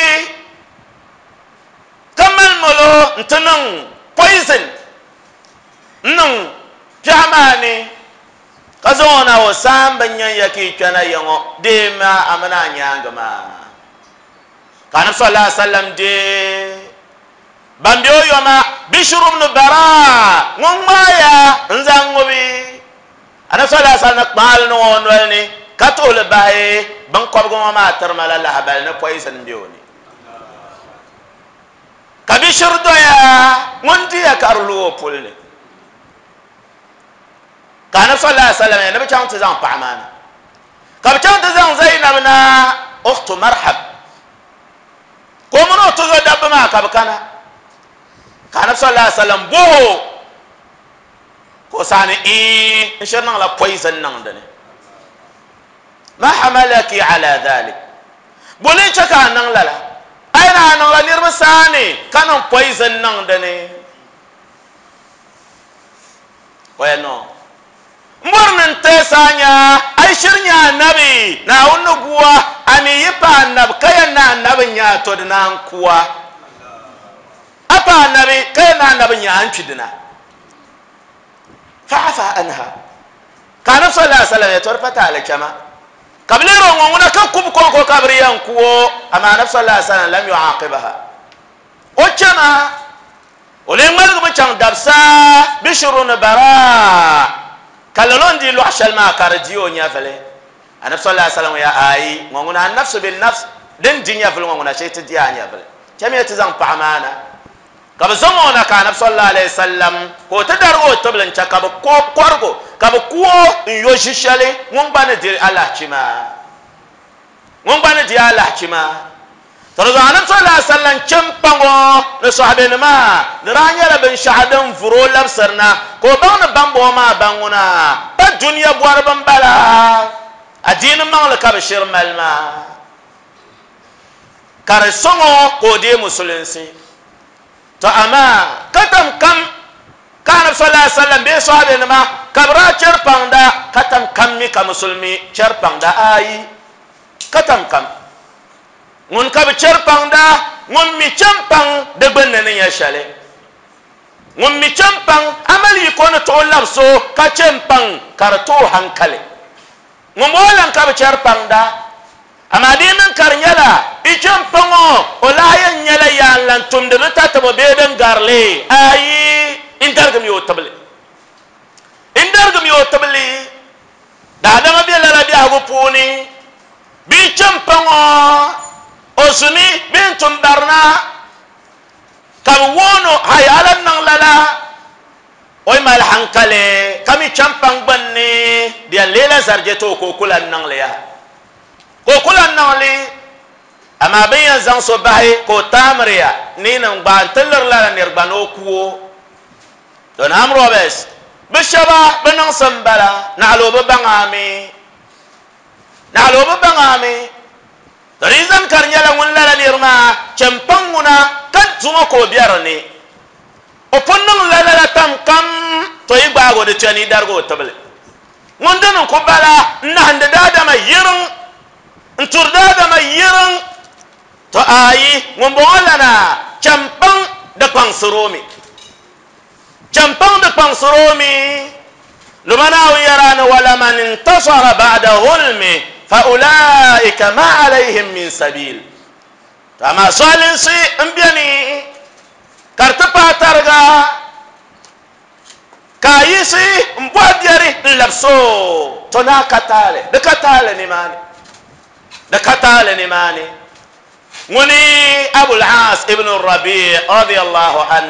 S2: ka mali molo nti niŋ poison n-niŋ piɛɣu maa ni, ka zaŋ o na o saamba n-nyan ya ka yi kpɛna ya ŋɔ deemi a mini a nyaaŋa maa. Ka Anabi sallallahu alaihi wasallam deei ban be o yoma Bishr ibn Bara ŋun ŋmaaya n-zaŋ ŋubi Anabi sallallahu alaihi wasallam ni kpaali niŋ o noli ni ka tuhili bahi binkɔbigu ŋɔ maa tiri ma la lahabali ni poison be o ni. Ka Bishr doya ŋun diya ka di lu o puli ni. Ka Anabi sallallahu alaihi wasallam ni bɛ chaŋ ti zaŋ paɣa maa na. Ka bɛ chaŋ ti zaŋ Zainab na ukhtu Marhab. Ka o mini o tuzo dabba maa ka bɛ kana. Ka Anabi sallallahu alaihi wasallam bɔh o ka o saɣi ni iin n shiri niŋla poison niŋ di ni. Ma hamalaki ala dhalik. Bo ni chɛ ka a niŋ lala? A yi ni a niŋla niriba saani ka niŋ poison niŋ di ni. O yɛli no. M bɔri ni n teesi a nya a yi shiri nya anabi Naawuni ni gu a, a mi yi pa anabi ka yɛn ni anabi n-nya a to di naan ku a. A pa anabi ka yɛn ni anabi n-nya a n-kpi dina. Fa'afa anha. Ka Anabi sallallahu alaihi wasallam yɛli, To di pa taali chama. Ka bɛ lihiri o ŋɔ ŋuna ka kubu kɔŋko ka bɛ di yɛn ku o, amaa Anabi sallallahu alaihi wasallam lam yu'aqibaha. O chama. O lee ŋmaligi bi chaŋ dabisa bishiru ni bara, ka lala o ni dii lɔɣu shɛli maa ka di di o nyɛvili. Anabi sallallahu alaihi wasallam ya ayi, ŋɔ ŋuna an-nafsu bin-nafs, din di nyɛvili ŋɔ ŋuna shee ti di a nyɛvili. Chamiya ti zaŋ paɣa maa na. Ka bɛ zaŋ o na ka Anabi sallallahu alaihi wasallam ka o ti darigi o tibili n-chɛ ka bɛ kɔrig o, ka bɛ ku o n-yo ʒi shɛli ŋun gba ni di alahichi maa. Ŋun gba ni di alahichi maa. To di zuɣu Anabi sallallahu alaihi wasallam chɛ m-paŋ o ni sɔhibenima ni daa nyɛla binshɛɣu din vuri o labisiri na ka o baŋ ni bambɔŋɔ maa baŋ ŋuna pa dunia bɔriba m-bala, adiini maŋli ka bɛ shiri mali maa ka di sɔŋ o ka o deei musulinsi. To amaa ka tam kam ka Anabi sallallahu alaihi wasallam bee sɔhibenima ka bɛ daa chɛri paŋda ka tam kam mi ka musulimi chɛri paŋda ayi ka tam kam. Ŋun ka bi chɛri paŋda, ŋun mi chɛ m-paŋ di gbunni ni nyɛ shɛli. Ŋun mi chɛ m-paŋ, a mali yiko ni tooi labis o ka chɛ m-paŋ ka di ti o haŋkali. Ŋumbɔŋɔ lan ka bi chɛri paŋda, amaa di yi niŋ ka di nyɛla i chɛ m-paŋ o, o lahi yɛn nyɛla yaa n-lan tumdi di tatabo bee din gari li. Ayi, n darigimi o tibili. N darigimi o tibili. Daadama be lala biɛhigu puuni. Bɛ yi chɛ m-paŋ o, o zumi bee n-tum barina, ka bɛ woon o, Hai, a lan niŋ lala? O yi mali haŋkali ka mi chɛ m-paŋ gbunni, di yɛn leela zarije ti o ka o ku lan niŋ li yaha. Ka o ku lan niŋ li, amaa bɛ ni yɛn zaŋ so bahi ka o taamiriya ni yinim gbaai nti liri lala nir gba ni o ku o. Don armed robbers bɛ shɛba bɛ niŋsim m-bala, naɣila o bi baŋ a mi. Naɣila o bi baŋ a mi. To di yi zani ka di nyɛla ŋun lala niri maa chɛ m-paŋ ŋuna ka zuŋɔ ka o be di ni, o pun niŋ la lala tam kam, to yi gbaag o di chɛ ni yi darigi o tibili. Ŋun dini n-ku bala n-nahindi daadama yiriŋ, n-turi daadama yiriŋ. To ayi ŋunbɔŋɔ lana champaŋ di kpaŋsiri mi, champaŋ di kpaŋsiri mi. Luma Naawuni yɛra ni walaman intasara ba'da zulmi fa ulaika ma alayhim min sabil. To amaa zualinsi n beni ka di ti paai tariga ka a yiɣisi n bɔhi biɛri n labisi o, to naa ka taali, di ka taali nimaani, di ka taali nimaani. Ŋuni Abul Aas ibn Rabi radiyallahu an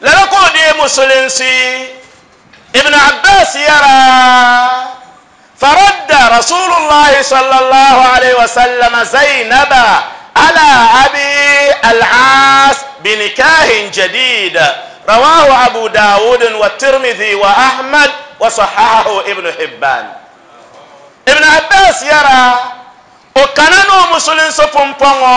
S2: lala ka o deei musulinsi. Ibn Abbas yɛra, faradda Rasulullahi sallallahu alayhi wa sallam Zainaba ala Abi al-Aas binikahin jadid, rawahu Abu Dawud wa Tirmidhi wa Ahmad wa sahahahu Ibn Hibban. Ibn Abbas yɛra, o kana ni o musulinsi pumpɔŋɔ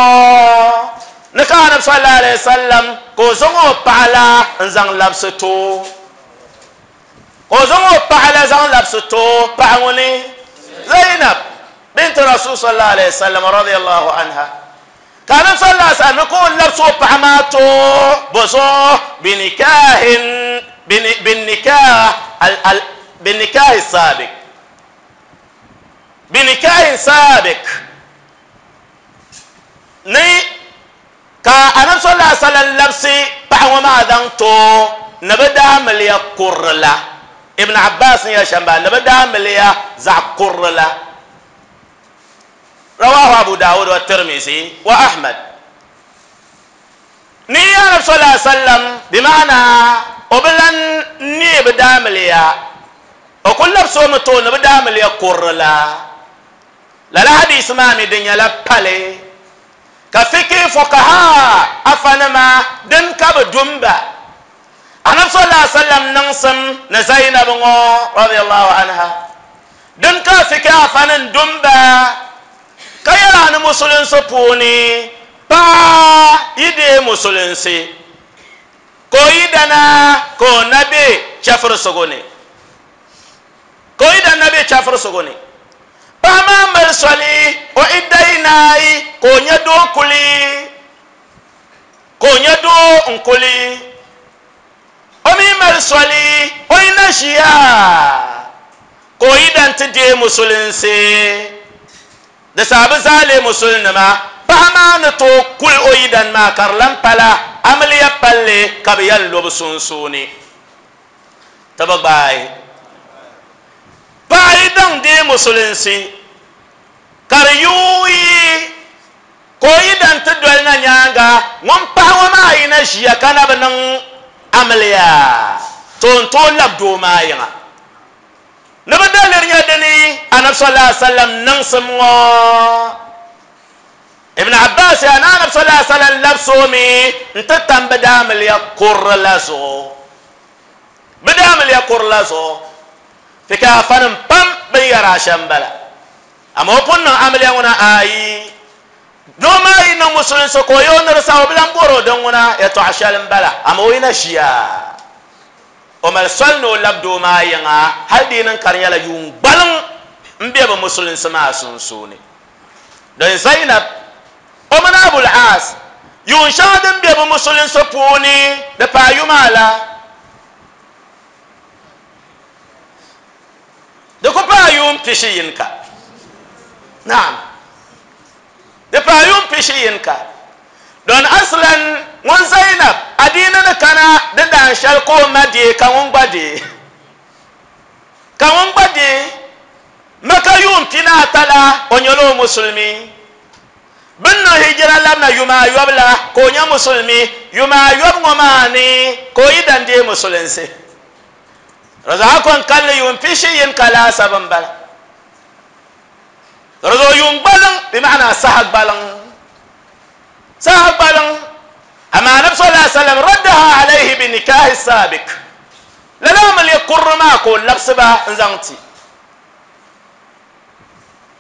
S2: ni ka Anabi sallallahu alayhi wa sallam ka o zaŋ o paɣa la n-zaŋ labisi ti o, ka o zaŋ o paɣa la zaŋ labisi ti o paɣa ŋuni Zainab bint Rasul sallallahu alayhi wa sallam radiyallahu anha, ka Anabi sallallahu alayhi wa sallam ni ka o labisi o paɣa maa ti o bɔzuɣu binikahin binnikah al binnikahi sabiq binikahin sabiq ni ka Anabi sallallahu alaihi wasallam labisi paɣa ŋɔ maa zaŋ ti o ni bi daamiliya kurili la. Ibn Abbas ni yɛli shɛm bala, ni bi daamiliya zaɣ kurili la. Rawahu Abu Dawud wa Tirmizi wa Ahmad. Ni Anabi sallallahu alaihi wasallam bi maana o bi lan neei bi daamiliya, o kuli labisi o mi ti o ni bi daamiliya kurili la. Lala hadiisi maa mi di nyɛla pali ka fiqh fuqaha afanima din ka bi dumba. Anabi sallallahu alaihi wasallam niŋsim ni Zainab ŋɔ radiyallahu anha din ka fiqh afanin dumba ka yɛla ni musulinsi puuni paɣa yi deei musulinsi ka o yidana ka o na be chɛfirisigu ni, ka o yidana na be chɛfirisigu ni, paɣa maa mali soli o idda yi naai ka o nya doo kuli, ka o nya doo n-kuli. O mi mali soli o yi na ʒiya ka o yidan ti deei musulinsi. Di saha bɛ zaa leei musulinima. Paɣa maa ni tooi kuli o yidan maa ka di lan pala amiliya palli ka bɛ yɛn lo bɛ sunsuuni. Ti bi gbaai. Paɣa yi daŋ deei musulinsi ka di yuui ka o yidan ti doli na nyaaŋa, ŋun paɣa ŋɔ maa yi na ʒiya ka na bi niŋ amiliya, to n tooi lab doo maa yiŋa. Ni bi daliri nyɛ dini Anabi sallallahu alaihi wasallam niŋsim ŋɔ. Ibn Abbas yaa ni Anabi sallallahu alaihi wasallam labisi o mi n-ti tam bɛ daamiliya kurili la zuɣu. Bɛ daamiliya kurili la zuɣu. Fika afanim pam bɛ ni yɛri a shɛm m-bala. Amaa o pun niŋ amiliya ŋuna ayi. Doo maa yi niŋ musulinsi ka o yi o ni di saha o bi lan bɔri o din ŋuna yɛtɔɣa shɛli m-bala. Amaa o yi na ʒiya o mali soli ni o labi doo maa yiŋa hali di yi niŋ ka di nyɛla yuun gbaliŋ m-be bɛ musulinsi maa sunsuuni. Din Zainab o mini Abul Aas yuun shɛŋa din be bɛ musulinsi puuni di paai yuma ala. Di ku paai yuun pishi yinika. Naam. Di paai yuun pishi yinika. Don aslan ŋun Zainab adiini ni kana di daan shɛli ka o ma deei ka ŋun gba deei. Ka ŋun gba deei. Maka yuun pinaata la o nyɛla o musulimi. Bɛ ni niŋ hijira labina yuma ayɔbu la ka o nyɛ musulimi. Yuma ayɔbu ŋɔ maa ni ka o yi dan deei musulinsi. Di zuɣu a kɔŋ kalinli yuun pishi yinika laasabu m-bala. Di zuɣu yuun gbaliŋ, bɛ maana saha gbaliŋ. Saha gbaliŋ. Amaa Anabi sallallahu alaihi wasallam raddaha alayhi bi nikahi sabiq. Lala amiliya kurili maa ka o labisi ba n-zaŋ ti.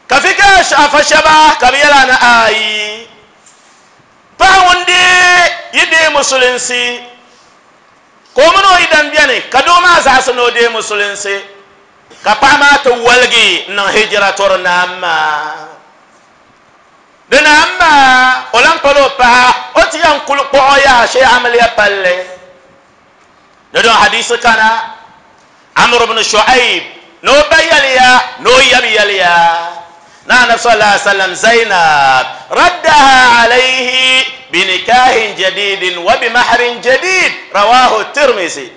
S2: Ka fi ka afa shɛba ka bɛ yɛli a ni ayi, paɣa ŋun deei yi deei musulinsi ka o mini o yidan beni ka doo maa zaɣisi ni o deei musulinsi ka paɣa maa ti woligi n-niŋ hijira tɔri naam maa. Dina amaa o lan pala o paɣa o ti yɛn kuli kpuɣi o yaha shee amiliya palli. Di don hadisi kana Amr ibn Shu'aib ni o ba yɛliya ni o yab yɛliya ni Anabi sallallahu alaihi wasallam Zainab raddaha alayhi binikahin jadidin wa bimahrin jadid rawahu Tirmizi.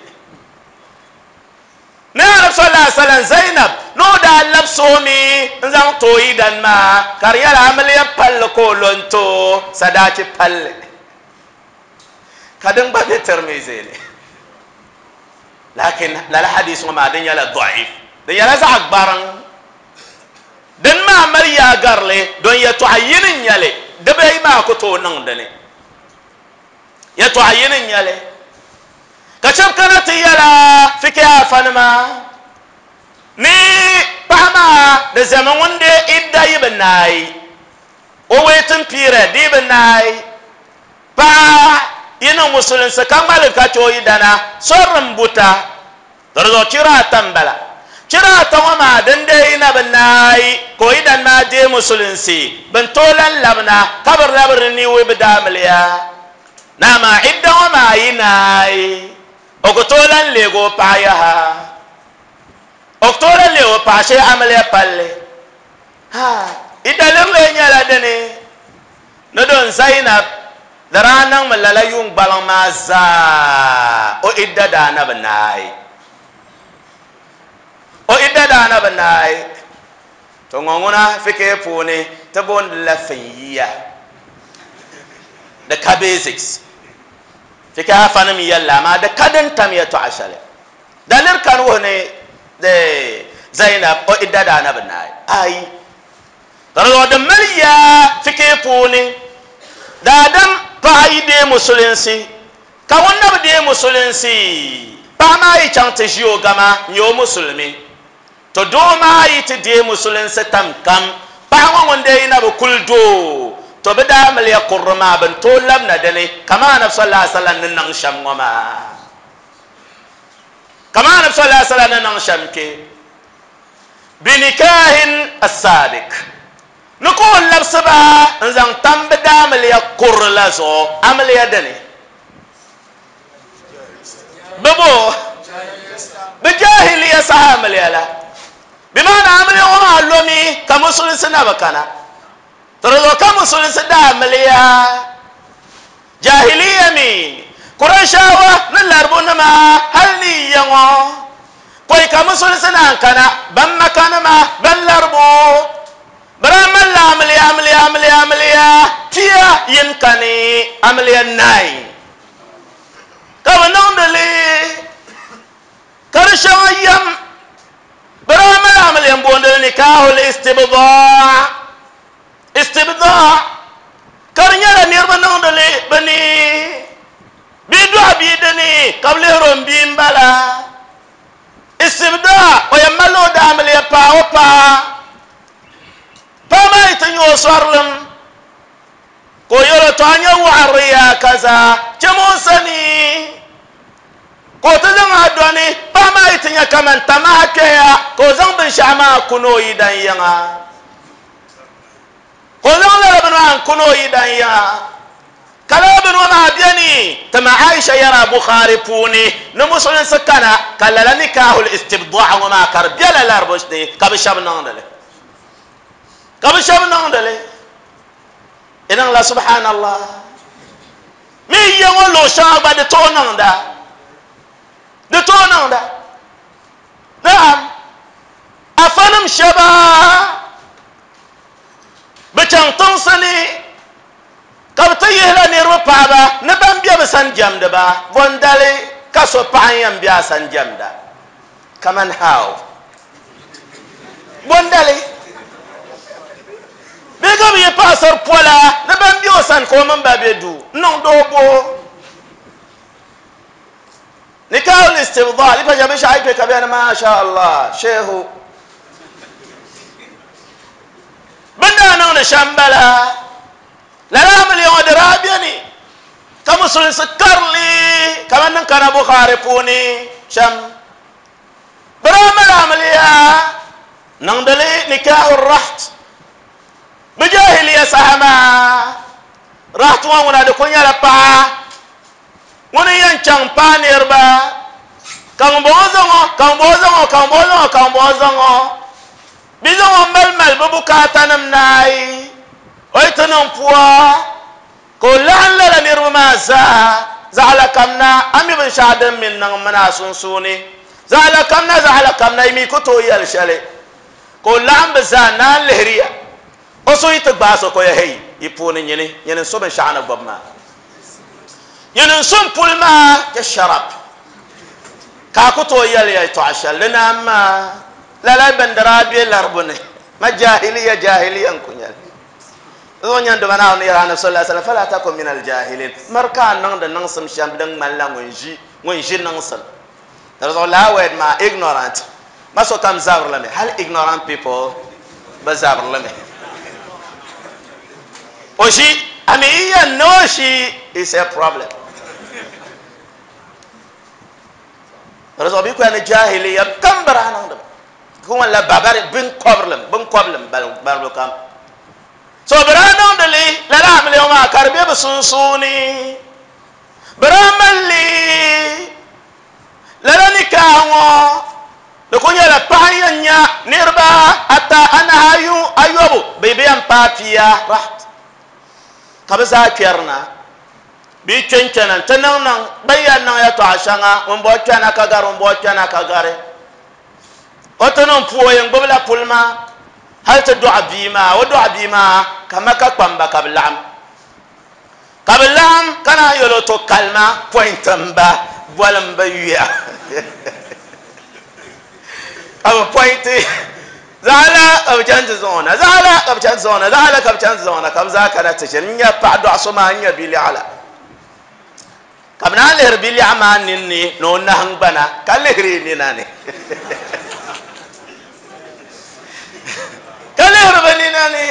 S2: Ni Anabi sallallahu alaihi wasallam Zainab ni o daa labisi o mi n zaŋ ti o yidan maa ka di nyɛla amiliya palli ka o lo n-ti o sadaachi palli ka din gba be Tirmizi ni. Lakin lala hadisi ŋɔ maa di nyɛla da'if, di nyɛla zaɣ gbariŋ. Din maa mali yaa garili don yɛtɔɣa yini n-nyɛ li, dibayi maa ku tooi niŋ di ni. Yɛtɔɣa yini n-nyɛ li. Ka shɛba kana ti yɛla fikihi afanima ni paɣa maa di zami ŋun deei idda yi bi naai, o waiting period di yi bi naai, paɣa yi niŋ musulinsi ka ŋmaligi ka chɛ o yidana, sɔri n buta. Di zuɣu chira ata m-bala. Chira ata ŋɔ maa din deei yi na bi naai ka o yidana maa deei musulinsi, bɛ ni tooi lan labina ka bɛ labi renew bɛ daamiliya. Ni amaa idda ŋɔ maa yi naai, o ku tooi lan leeg o paɣa yaha. O ku tooi lan leeg o paɣa shee amiliya palli. Ha! Yi daliri lee nyɛla dini ni don Zainab di daa niŋmi lala yuun gbaliŋ maa zaa o idda daa na bi naai. O idda daa na bi naai. To ŋɔ ŋuna fikihi puuni ti booni li la finyiya. Di ka basics. Fikihi afanim yɛlli amaa di ka din tam yɛtɔɣa shɛli. Daliri kani wuhi ni di Zainab o idda daa na bi naai. Ayi. Ka di zuɣu di mali yaa fikihi puuni daadam paɣa yi deei musulinsi ka ŋun na bi deei musulinsi paɣa maa yi chaŋ ti ʒi o gama n-nyɛ o musulimi. To doo maa yi ti deei musulinsi tam kam, paɣa ŋɔ ŋun deei na bi kuli doo, to bɛ daa miliya kurili maa bɛ ni tooi labina di ni kaman Anabi sallallahu alaihi wasallam ni niŋ shɛm ŋɔ maa. Kaman Anabi sallallahu alaihi wasallam ni niŋ shɛm kpe binikahin as-sabiq ni ka o labisi ba n-zaŋ tam bɛ daamiliya kurili la zuɣu amiliya dini. Bɛ bo bɛ jahiliya saha amiliya la. Bɛ maana amiliya ŋɔ maa lomi ka musulinsi na bi kana. To di zuɣu ka musulinsi daa amiliya jahiliya mi Kurayshaawa ni Laribunima hali ni yiya ŋɔ pɔi ka musulinsi naan kana ban Makanima ban Laribu Bɛ daa malila amiliya amiliya amiliya amiliya pia yini kani amiliya nine ka bɛ niŋdi li ka di shɛŋa yɛm. Bɛ daa mali amiliya m-booni li nikahul istibdaa, istibdaa, ka di nyɛla niriba niŋdi li bɛ ni bɛ dɔɣi bia dini ka bɛ lihiri o m-bia m-bala. Istibdaa, o yɛn malila o daamiliya paai o paɣa. Paɣa maa yi ti nya o sɔrilim, ka o yɛl o, Tɔ a nya waɣiri yaa kaza, cham o sani. Ka o ti zaŋ a dɔni. Paɣa maa yi ti nya kaman tamaha kpɛya, ka o zaŋ binshɛɣu maa kuni o yidan yiŋa. Ka o zaŋ lala bini maa n-kuni o yidan yiŋa. Ka lala bini ŋɔ maa beni ti ma Aisha yɛra Bukhari puuni ni musulinsi kana ka lala nikahul istibdaa ŋɔ maa ka di bela laribu ni ka bɛ shɛba niŋdi li. Ka bɛ shɛba niŋdi li. Di niŋla subhanallah. Mi yiya ŋɔ luɣ shɛŋa gba di tooi niŋda. Di tooi niŋda. Naam. Afanim shɛba bɛ chaŋ tiŋsi ni ka bɛ ti yihila niriba paɣiba ni ban be bɛ sani jɛmdi ba, bɔ n-dali ka so paɣa n-yɛn be a sani jɛmda? Kaman how? Bɔ n-dali? Bee ka bɛ yi paɣisari pola ni ban be o sani ka o mini ba be duu n-niŋ doo bo? Nikahul istibdaa, yi pa nya binshɛɣu yi kpe ka bɛ ni Masha Allah, Shehu. Bɛ ni daa niŋdi shɛm m-bala. Lala amiliya ŋɔ di daa beni ka musulinsi karili kamani din kana Bukhari puuni shɛm. Bɛ daa mali amiliya niŋdi li nikahu raht. Bɛ jahiliya saha maa, rahtu ŋɔ ŋuna di kuli nyɛla paɣa ŋuni yɛn chaŋ paai niriba ka ŋunbɔŋɔ zaŋ o, ka ŋunbɔŋɔ zaŋ o, ka ŋunbɔŋɔ zaŋ o, ka ŋunbɔŋɔ zaŋ o. Bɛ zaŋ o mali mali bɛ bukaatanim naai, o yi ti niŋ pua ka o laɣim lala niriba maa zaa, zaɣila kam na, a mi binshɛɣu din mi niŋ m mini a sunsuuni, zaɣila kam na, zaɣila kam na, yi mi ku tooi yɛli shɛli. Ka o laɣim bɛ zaa naan lihiri ya. O so yi ti gbaai so ka o ya, Hei, yi puuni nyini, nyini n-so binshɛɣu ni gbubi maa. Nyini n-so m-puli maa, just shut up. Ka a ku tooi yɛli yɛltɔɣa shɛli di naan maa. Lala bindira be laribu ni. Ma jahiliya, jahiliya n-ku nyɛ li. Di zuɣu nyɛ n-duma Naawuni ni yɛli Anabi sallallahu alaihi wasallam, Fala takun minal jahilin. Miri ka a niŋdi niŋsim shɛm din ŋmanila ŋun ʒi, ŋun ʒi niŋsim. Di zuɣu lala word maa ignorant ma sokam zabiri li mi, hali ignorant people bi zabiri li mi. O ʒi, I mean yi yɛn ni o ʒi is a problem. Di zuɣu bɛ kuya ni jahiliya kam bi daa niŋdi ba. Ku ŋmanila babari binkɔbirilim, binkɔbilim balibu kam. So bi daa niŋdi li lala amiliya maa ka di be bi sunsuuni. Bɛ daa mali li lala nikaaha ŋɔ di kuli nyɛla paɣa n-yɛn nya niriba ata, anahi, ayu, ayɔbu bɛ bi yɛn paai pia raht ka bɛ zaa kpɛri na bɛ yi kpe n-kpɛna nti niŋ niŋ bɛ ni yɛn niŋ yɛltɔɣa shɛŋa ŋun bɔri kpɛna ka gari ŋun bɔri kpɛna ka gari o ti niŋ puu o yɛn gbubila puli maa hali ti dɔɣi bia maa o dɔɣi bia maa ka Maka kpamba ka bɛ laɣim Ka bɛ laɣim ka naan yɛl o, To kalima pɔinti m-ba, bolim bɛ yuya. Ka bɛ pɔinti zaɣila ka bɛ chani ti zaŋ o na, zaɣila ka bɛ chani ti zaŋ o na, zaɣila ka bɛ chani ti zaŋ o na, ka bɛ zaa kana ti ʒini n-nya paɣidɔɣiso maa n-nya biliɛɣu la. Ka bɛ naan lihiri biliɛɣu maa ninni ni o nahiŋgbana, ka lihiri nina ni. Ka lihiri bɛ nina ni.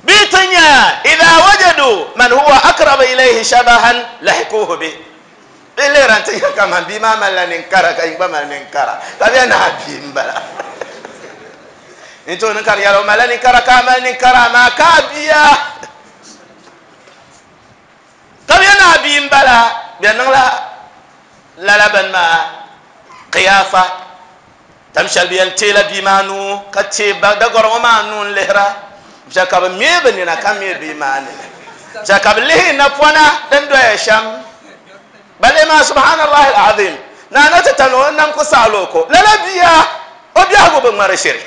S2: Bɛ ti nya, idha wajadu man huwa akrabu ilayhi shabahan lahikuhu bi. Bɛ lihira nti nya kaman bia maa malila ninkara ka yi gba mali ninkara, ka bɛ naai bia m-bala. N tooi niŋ ka di nyɛla o malila ninkara ka a mali ninkara amaa ka a bia ka bɛ naai bia m-bala, bɛ niŋla lala bini maa qiyaafa. Tam shɛli bɛ yɛn teela bia maa nuu ka teei dagɔri ŋɔ maa nuu n-lihira shɛli ka bɛ meei bɛ nina ka meei bia maa nina shɛli ka bɛ lihi napɔna din doya shɛm ba lihi maa subhanallahi al-azim naa na ti tani o nam ku saɣili o ko lala bia o biɛhigu bi ŋmari shiri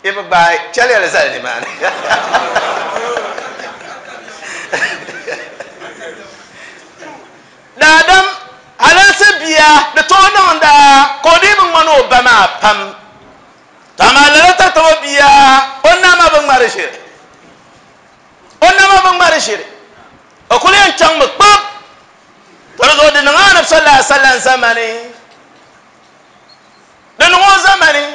S2: yi bi gbaai chɛliya li zali nimaani Daadam halinsi bia di tooi niŋda ka o dii bi ŋmani o ba maa pam. To amaa lala tatabo bia o nama bi ŋmari ʒiri. O nama bi ŋmari ʒiri. O kuli yɛn chaŋmi kpab. To di zuɣu di niŋ Anabi sallallahu alaihi wasallam zamani. Di niŋ o zamani.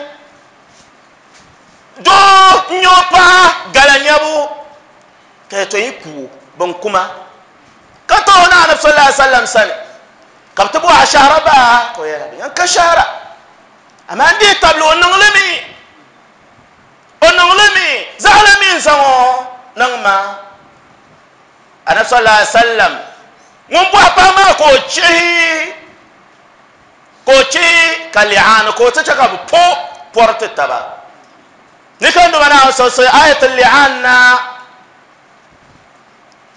S2: Doo n-nyɛ o paɣa gala nyabu ka yɛtɔɣa yi ku o, bɛn ku ma. Ka ti o na Anabi sallallahu alaihi wasallam sani, ka bɛ ti bɔhi a shɛhira baa? Ka o yɛli, Bɛ yɛn ka shɛhira, amaa n dihi tabili o niŋ li mi, o niŋ li mi, zaɣila mi n-zaŋ o niŋ ma. Anabi sallallahu alaihi wasallam ŋun bɔhi paɣa maa ka o chihi, ka o chihi ka li'aani, ka o ti chɛ ka bɛ po pɔri ti taba. Ni ka Duuma Naawuni sɔsɔi ayatul li'aan na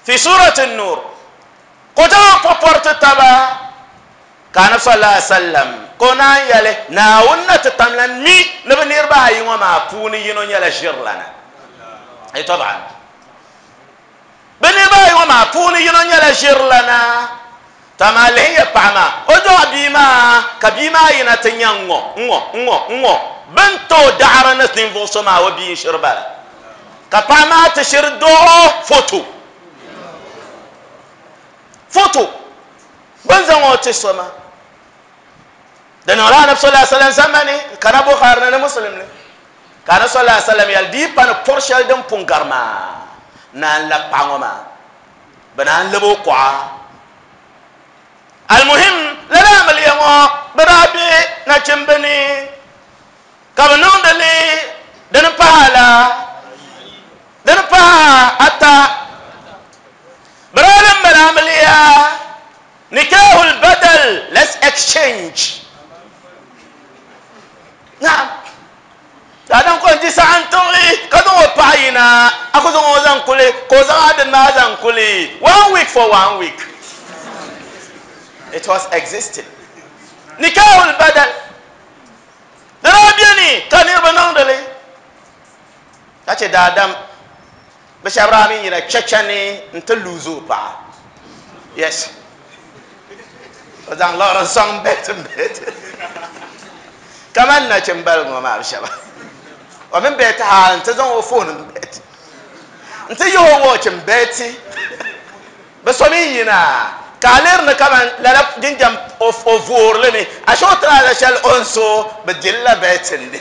S2: fi surati Nur, ka o ti zaŋ po pɔri ti taba, ka Anabi sallallahu alaihi wasallam ka o naan yɛli, Naawuni na ti tam lan mi ni bɛ niriba ayi ŋɔ maa puuni yino nyɛla ʒirilana. Ay tab'an. Bɛ niriba ayi ŋɔ maa puuni yino nyɛla ʒirilana. To amaa lihi ya paɣa maa, o dɔɣi bia maa, ka bia maa yina ti nya n-ŋɔ, n-ŋɔ, n-ŋɔ, n-ŋɔ. Bɛ ni ti o daɣiri ni ninvuɣ so maa, o bia n-shiri bala. Ka paɣa maa ti shiri dɔɣ o foto. Foto. Bɛ ni zaŋ o ti so maa. Di niŋla Anabi sallallahu alaihi wasallam zamani, kana Bukhari ni ni Muslim ni. Ka Anabi sallallahu alaihi wasallam yɛli, di yi pa ni pɔri shɛli din pun gari maa naan labi paɣa ŋɔ maa, bɛ naan lab o kuɣa. Almuhim, lala amiliya ŋɔ bɛ daa be nachimba ni ka bɛ niŋdi li dini pahi a la. yina, a ku zaŋ o zaŋ kuli, ka o zaŋ a dini maa zaŋ kuli. One week for one week. It was existing. Nikahul badal. Di daa beni ka niriba niŋdi li. Ka chɛ daadam bɛ shɛba daa mi yina chɛchɛ ni n-ti luuzi o paɣa. Yes. O zaŋ liɣiri n-sɔŋ bɛti bɛti. Kamani nachimbaligi ŋɔ maa bɛ shɛba. O mini bɛti hali nti zaŋ o foon m-bɛti. Nti yihi o watch m-bɛti. Bɛ so mi yina ka a lihiri ni kaman lala jinjam o voori li mi, ashe o tiraza shɛli o ni so bi dili la bɛtindi.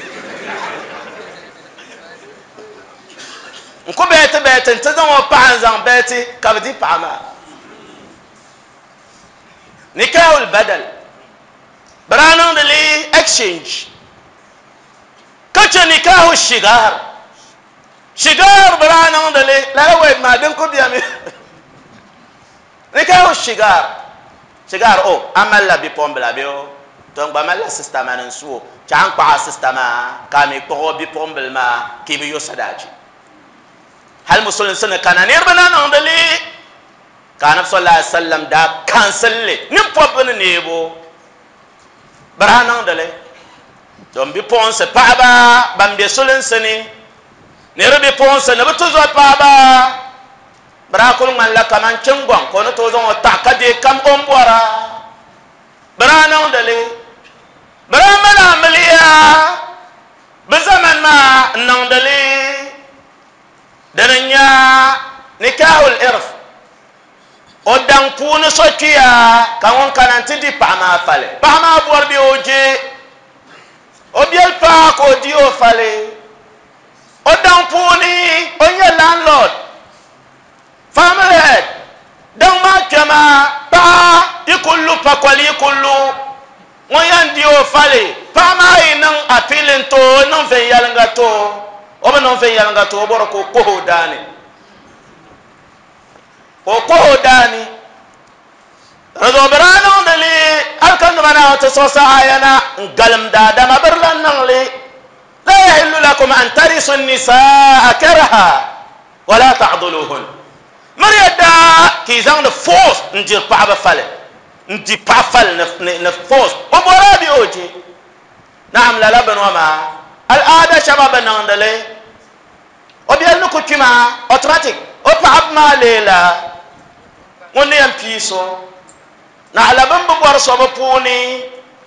S2: N ku bɛti bɛti nti zaŋ o paɣa n-zaŋ bɛti ka bɛ di paɣa maa. Nikahul badal. Bɛ daa niŋdi li exchange ka chɛ nikahu shigar. Shigar bɛ daa niŋdi li lala word maa din ku bemi. Nikahu shigar. Shigar o a malila bipuɣimbila bee o to n gba malila sista mani n su o chɛ a ni kpaɣi a sista maa ka a mi kpuɣi o bipuɣimbila maa ka i bi yo sadaachi. Hali musulinsi ni kana niriba na niŋdi li ka Anabi sallallahu alaihi wasallam daa cancel li nini pɔbbu ni neebu. Bɛ daa niŋdi li don bipuɣinsi paɣaba ban be sulinsi ni ni di bipuɣinsi ni bɛ ti zo paɣaba. Bɛ daa kuli ŋmanila kaman chiŋgɔŋ ka o ni tooi zaŋ o taɣi ka deei kam o ni bɔra. Bɛ daa niŋdi li. Bɛ daa mali amiliya bɛ zamani maa n-niŋdi li. Dini n-nyɛ nikahul irf. O daŋ puuni so kpiya ka ŋun kana nti di paɣa maa fali. Paɣa maa bɔri bee o je o biɛli paai ka o di o fali. O daŋ puuni o nyɛ landlord, family head. Daŋ maa kpɛma paɣa yi kuli lu pakoli yi kuli lu ŋun yɛn di o fali. Paɣa maa yi niŋ appeal n-ti o, o niŋ viɛnyɛliŋga ti o, o bi niŋ viɛnyɛliŋga ti o, o bɔri ka o kɔhi o daani. Ka o kɔh o daani. Di zuɣu bɛ daa niŋdi li hal ka nima Naawuni ti siɣisi aaya na n-galim daadama bɛ di lan niŋ li, La yahillu lakum an tarisu n-nisaa karaha wa laa ta'duluhun. Miriya daa ka yi zaŋdi force n-diri paɣaba fali, n-di paɣa fali ni force, o bɔri a bee o je. Naam, lala bini ŋɔ maa al'aada shɛba bi niŋdi li. O biɛli ni ku kpi maa, automatic o paɣaba maa leela ŋun ni yɛn pii so. Naɣila bɛ ni bi bɔri so bɛ puuni,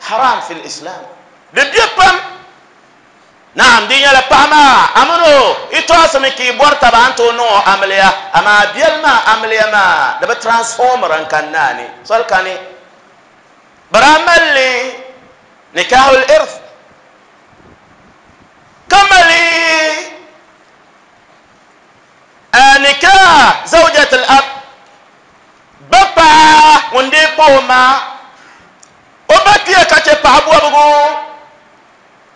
S2: haram fil Islam. Di be pam. Naam, di nyɛla paɣa maa a mini o yi tɔɣisimi ka yi bɔri taba a ni tooi niŋ o amiliya, amaa biɛli maa amiliya maa di bi transformira n-kani naani, soli kani. Bɛ daa mali li nikahul irth. Ka mali nikah zawjat al-ab, ba paɣa ŋun dee pa o ma, o ba kpiya ka chɛ paɣa bɔbigu,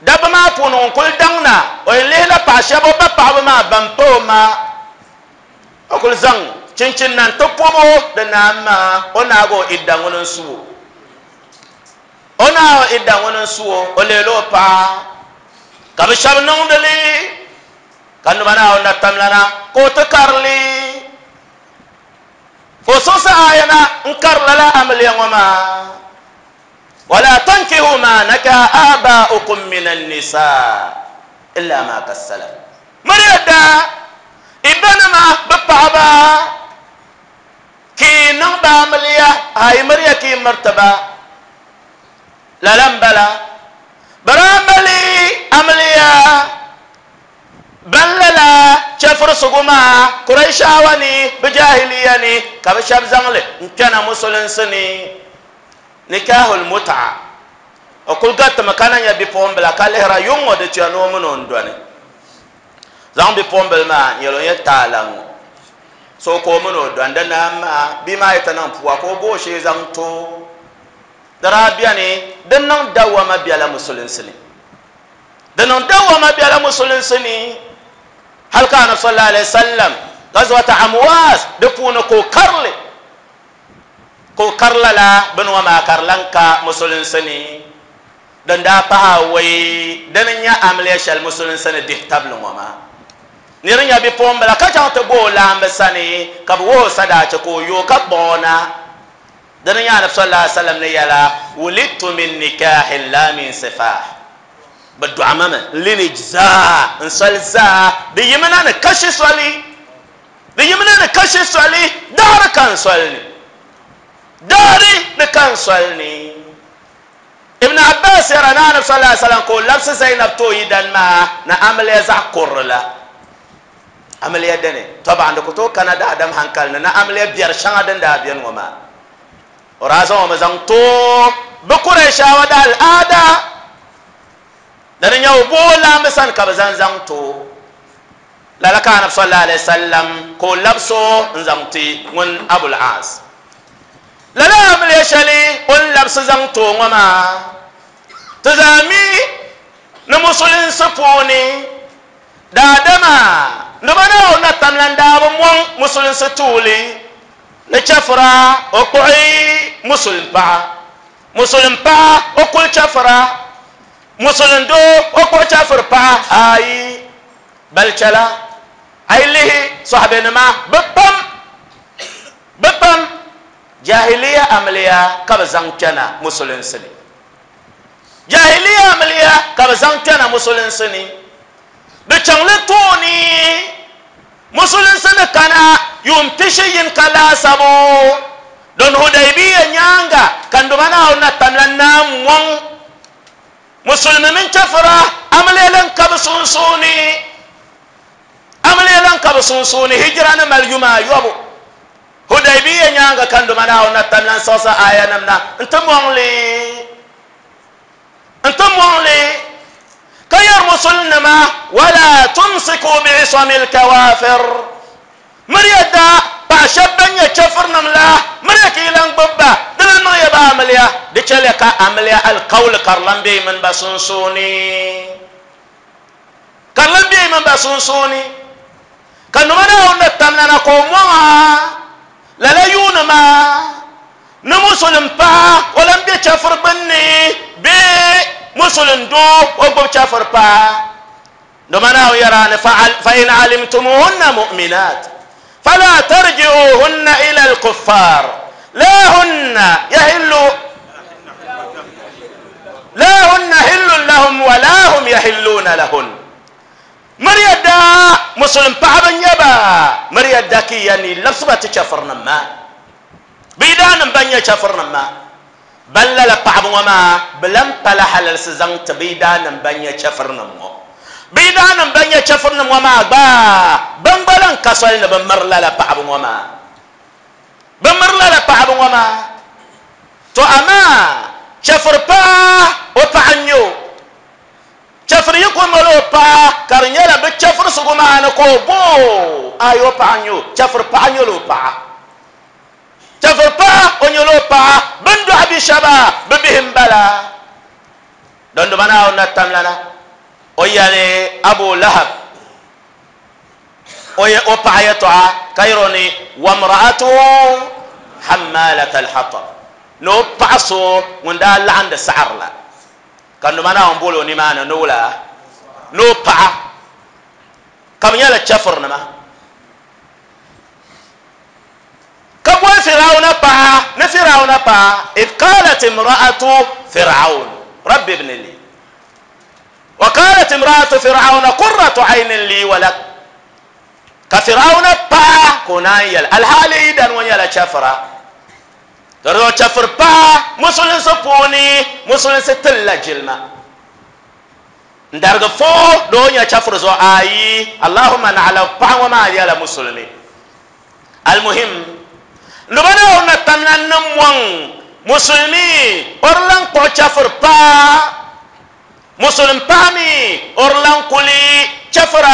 S2: dabba maa puuni ŋun kuli daŋ na, o yɛn lihila paɣa shɛba o ba paɣaba maa ban pa o ma, o kuli zaŋ chinchini na n-ti pɔbi o di naan maa, o naagi o idda ŋuni n-su o. O naai o idda ŋuni n-su o, o leela o paɣa. Ka bɛ shɛba niŋdi li, ka numa Naawuni na tamlana ka o ti kari li. Ka o siɣisi aaya na n-kari lala amiliya ŋɔ maa, Wala tankihu ma nakaha aaba'ukum mina n-nisaa illa ma kad salaf. Miriya daa i banima bɛ paɣaba. Ka yi niŋ ba amiliya, ayi miriya ka yi miriti ba. Lala m-bala. Bɛ daa mali amiliya ban lala chɛfurisigu maa Kuraishaawa ni bɛ jaahiliya ni, ka bɛ shɛba zaŋ li n-kpɛna musulinsi ni. Nikahul mut'a. O kuli garitimi ka na nya bipuɣimbila ka lihira yuŋ ŋɔ di tuya ni o mini o n-dɔni. Zaŋ bipuɣimbila maa n-yɛli o nyɛ taala ŋɔ. So ka o mini o dɔni di naai maa, bia maa yi ti niŋ pua ka o bo o shee zaŋ ti o. Di daa beni, di niŋ dawama bela musulinsi ni. Di niŋ dawama bela musulinsi ni hali ka Anabi sallallahu alaihi wasallam Ghazwat Amwas di puuni ka o kari li, ka o kari lala bini ŋɔ maa ka di lan ka musulinsi ni. Din daa pahi awɔi, dini n-nyɛ amiliya shɛli musulinsi ni dihi tabili ŋɔ maa. Nir nya bipuɣimbila ka chaŋ ti bo o laamba sani, ka bɛ wuhi o sadaachi ka o yooi ka kpuɣi o na. Dini n-nyɛ Anabi sallallahu alaihi wasallam ni yɛla, Wulidtu min nikahin la min sifah. Bɛ dɔɣi ma mi n lineage zaa, n soli zaa, di yimina ni kashi soli. Di yimina ni kashi soli, daɣiri ka n soli ni. Daɣiri ni ka n soli ni. Ibn Abbas yɛra ni Anabi sallallahu alaihi wasallam ka o labisi Zainab ti o yidan maa ni amiliya zaɣ kurili la. Amiliya dini? Tɔbaɣindi ku tooi kana daadam hankali ni ni amiliya biɛri shɛŋa din daa beni ŋɔ maa. O daa zaŋ o mi zaŋ ti o bi Qurayshawa da al'aada. Dini n-nyɛ o bo o laambi sani ka bɛ zaŋ zaŋ ti o. Lala ka Anabi sallallahu alaihi wasallam ka o labisi o n-zaŋ ti ŋun Abul Aas. Lala amiliya shɛli o ni labisi zaŋ ti o ŋɔ maa, ti zaa mi ni musulinsi puuni daadama ni bɛ Naawuni na tamla n-daa bi mɔŋ musulinsi tuuli ni chɛfura o kpuɣi musulin paɣa, musulin paɣa o kuli chɛfura, musulin doo o kpuɣi chɛfuri paɣa. Aai, bali chɛla a yi lihi sɔhibenima bɛ pam. Bɛ pam jahiliya amiliya ka bɛ zaŋ kpɛna musulinsi ni. Jahiliya amiliya ka bɛ zaŋ kpɛna musulinsi ni. Di chaŋli tooni musulinsi ni kana yuun pishi yinika laasabu din Hudaybiya nyaaŋa ka Nduma Naawuni na tamla Naam ŋɔŋ musulimi mini chɛfura amiliya lan ka bɛ sunsuuni. Amiliya lan ka bɛ sunsuuni hijira ni mali yuma ayɔbu. Hudaybiya nyaaŋa ka Nduma Naawuni na tam lan siɣisi aayanim na n-ti mɔŋ li, n-ti mɔŋ li, ka yɛri Musulinima, Wala tumsiku bi'isamil kawaafir, Miriya da paɣ shɛba ban nyɛ chɛfirinim la, miriya ka yi lan gbibi ba, di lan niŋ ya ba amiliya, di chɛliya ka amiliya alikauli ka di lan be yi mini ba sunsuuni. Ka di lan be yi mini ba sunsuuni, ka nima Naawuni ni tamlana ka o mɔŋ a lala yuuni maa ni musulim paɣa o lan be chɛfiri gbinni bee musulim doo o gbubi chɛfiri paɣa. Dama Naawuni yɛri a ni, Fa in alimtumuhunna mu'minaat fala tarji'uhunna ila al-kuffar la hunna yahillu la hunna hillun lahum wa la hum yahilluna lahun. Miriya daa musulim paɣaba n-nyɛ ba, miriya da ki ya ni labisi ba ti chɛfirinim maa, bɛ yidaannim ban nyɛ chɛfirinim maa. Ban lala paɣaba ŋɔ maa bɛ lan pala halalisi zaŋ ti bɛ yidaannim ban nyɛ chɛfirinim ŋɔ. Bɛ yidaannim ban nyɛ chɛfirinim ŋɔ maa gba, bɛn gba lan ka soli ni bɛ miri lala paɣaba ŋɔ maa. Bɛ miri lala paɣaba ŋɔ maa. To amaa chɛfiri paɣa o paɣa n-nyɛ o. Chɛfiri yi ku mali o paɣa ka di nyɛla bɛ chɛfirisigu maa ni ka o bo o, aai o paɣa n-nyɛ o. Chɛfiri paɣa nyɛla o paɣa. Chɛfiri paɣa o nyɛla o paɣa, bɛ ni dɔɣi bi shɛba bɛ bihi m-bala. Dondoma Naawuni na tamlana o yɛli Abu Lahab o o paɣa yɛtɔɣa ka yɛr o ni, Wamra'atuhu hammalat al-hatab, ni o paɣa so ŋun daa laɣindi saɣiri la. Ka Dondoma Naawuni boli o nimaani ni wula? Ni o paɣa, ka bɛ nyɛla chɛfirinima. Ka boli Firawuna paɣa ni Firawuna paɣa, idh qalat imra'atu Fir'aun rabbi ibni li wa qalat imra'atu Fir'auna qurratu aynin li wa lak. Ka Firawuna paɣa ka o naan yɛli, alhaali yi dani ŋɔ nyɛla chɛfira. Di zuɣu chɛfiri paɣa musulinsi puuni, musulinsi tilila jilima. N darigi fo di o nya chɛfiri zuɣu ayi, Allahumma naɣila paɣa ŋɔ maa nyɛla musulimi. Almuhim, Nuba Naawuni na tamla ni mɔŋ musulimi o di lan kpuɣi chɛfiri paɣa, musulim paɣa mi o di lan kuli chɛfira.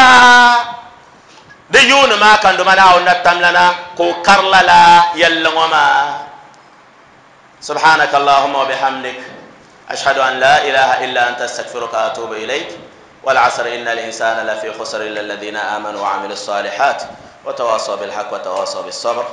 S2: Di yuuni maa ka Nuba Naawuni na tamla na ka o kari lala yɛlli ŋɔ maa. Subhanaka Allahumma wa bihamdik, ashhadu an la ilaha illa anta astaghfiruka wa atubu ilayk. والعصر إن الإنسان لفي خسر إلا الذين آمنوا وعملوا الصالحات وتواصوا بالحق وتواصوا بالصبر.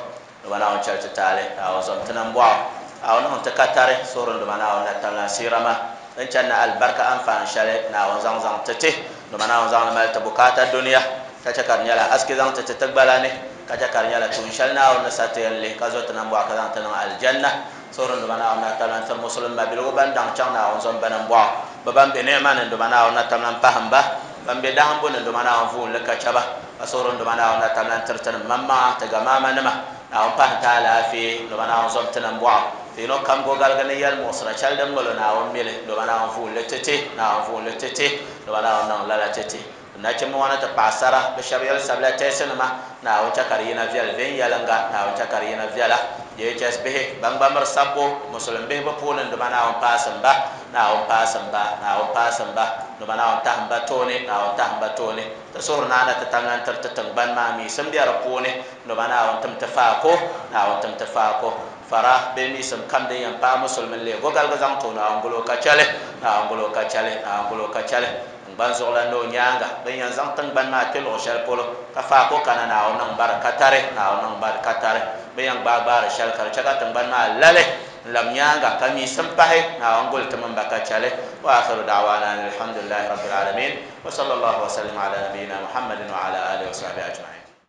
S2: Duma Naawuni chɛli ti taali, Naawuni zom ti nambɔɣu, Naawuni niŋ ti katari, suhuri Duma Naawuni na tamla siira ma din chani ni alibarika anfaani shɛli Naawuni zaŋ zaŋ ti ti. Duma Naawuni zaŋ li mali ti bukaata dunia. Ka chɛ ka di nyɛla asiki zaŋ ti ti ti gbala ni, ka chɛ ka di nyɛla tuun shɛli Naawuni ni sa ti yɛn lihi ka zo ti nambɔɣu ka zaŋ ti niŋ Alijanna. Suhuri n Duuma Naawuni na tamla n-tiri Musulim mabiligu ban daŋ chaŋ Naawuni zom ba nambɔɣu, bɛ ban be ni'ima ni n Duuma Naawuni na tamla m-pahim ba, ban be dahimbu ni n Duuma Naawuni vuun li ka chɛ ba. Ka suhuri n Duuma Naawuni na tamla n-tiri tinim maŋmaŋa, ti gamaamanima, Naawuni pahim ti alaafee, n Duuma Naawuni zom ti nambɔɣu. Ti yino kam gogaligi ni yɛlimuɣisira shɛli din mali o Naawuni mili, n Duuma Naawuni vuun li ti ti, Naawuni vuun li ti ti, n Duuma Naawuni niŋ lala ti ti. Nachimba ŋɔ ni ti paɣisara, bɛ shɛba yɛli sabila tɛɛsinima, Naawuni chɛ ka di yina viɛli viɛnyɛliŋga, Naawuni chɛ ka di yina viɛla. JHS bihi, ban gba miri sabbu, Musulin bihi bɛ puuni Nduma Naawuni paasim ba, Naawuni paasim ba, Naawuni paasim ba, Nduma Naawuni tahim ba tooni, Naawuni tahim ba tooni. Ti suhiri Naa na ti tamla n-tiri ti tiŋgbani maa miisim be di puuni, Nduma Naawuni tim ti faako, Naawuni tim ti faako. Fara bee miisim kam din yɛn paai Musulimi n-leei gogaligi zaŋ ti o, Naawuni guli o ka chɛ li, Naawuni guli o ka chɛ li, Naawuni guli o ka chɛ li. Tiŋgbani zuɣulan ni o nyaaŋa, bɛ ni yɛn zaŋ tiŋgbani maa kpe luɣ shɛli polo, ka faako kana Naawuni niŋ ba di katari, Naawuni niŋ ba di katari. Bɛ yɛn gbaai gbaari shɛli ka di chɛ ka tiŋgbani maa lali n-lab nyaaŋa, ka miisim pahi, Naawuni guli ti mini ba ka chɛ li. Wa akhiru da'wana anil hamdulillahi rabbil alamin, wa sallallahu wa sallim ala nabiyina Muhammadin wa ala alihi wa sahbihi ajma'in.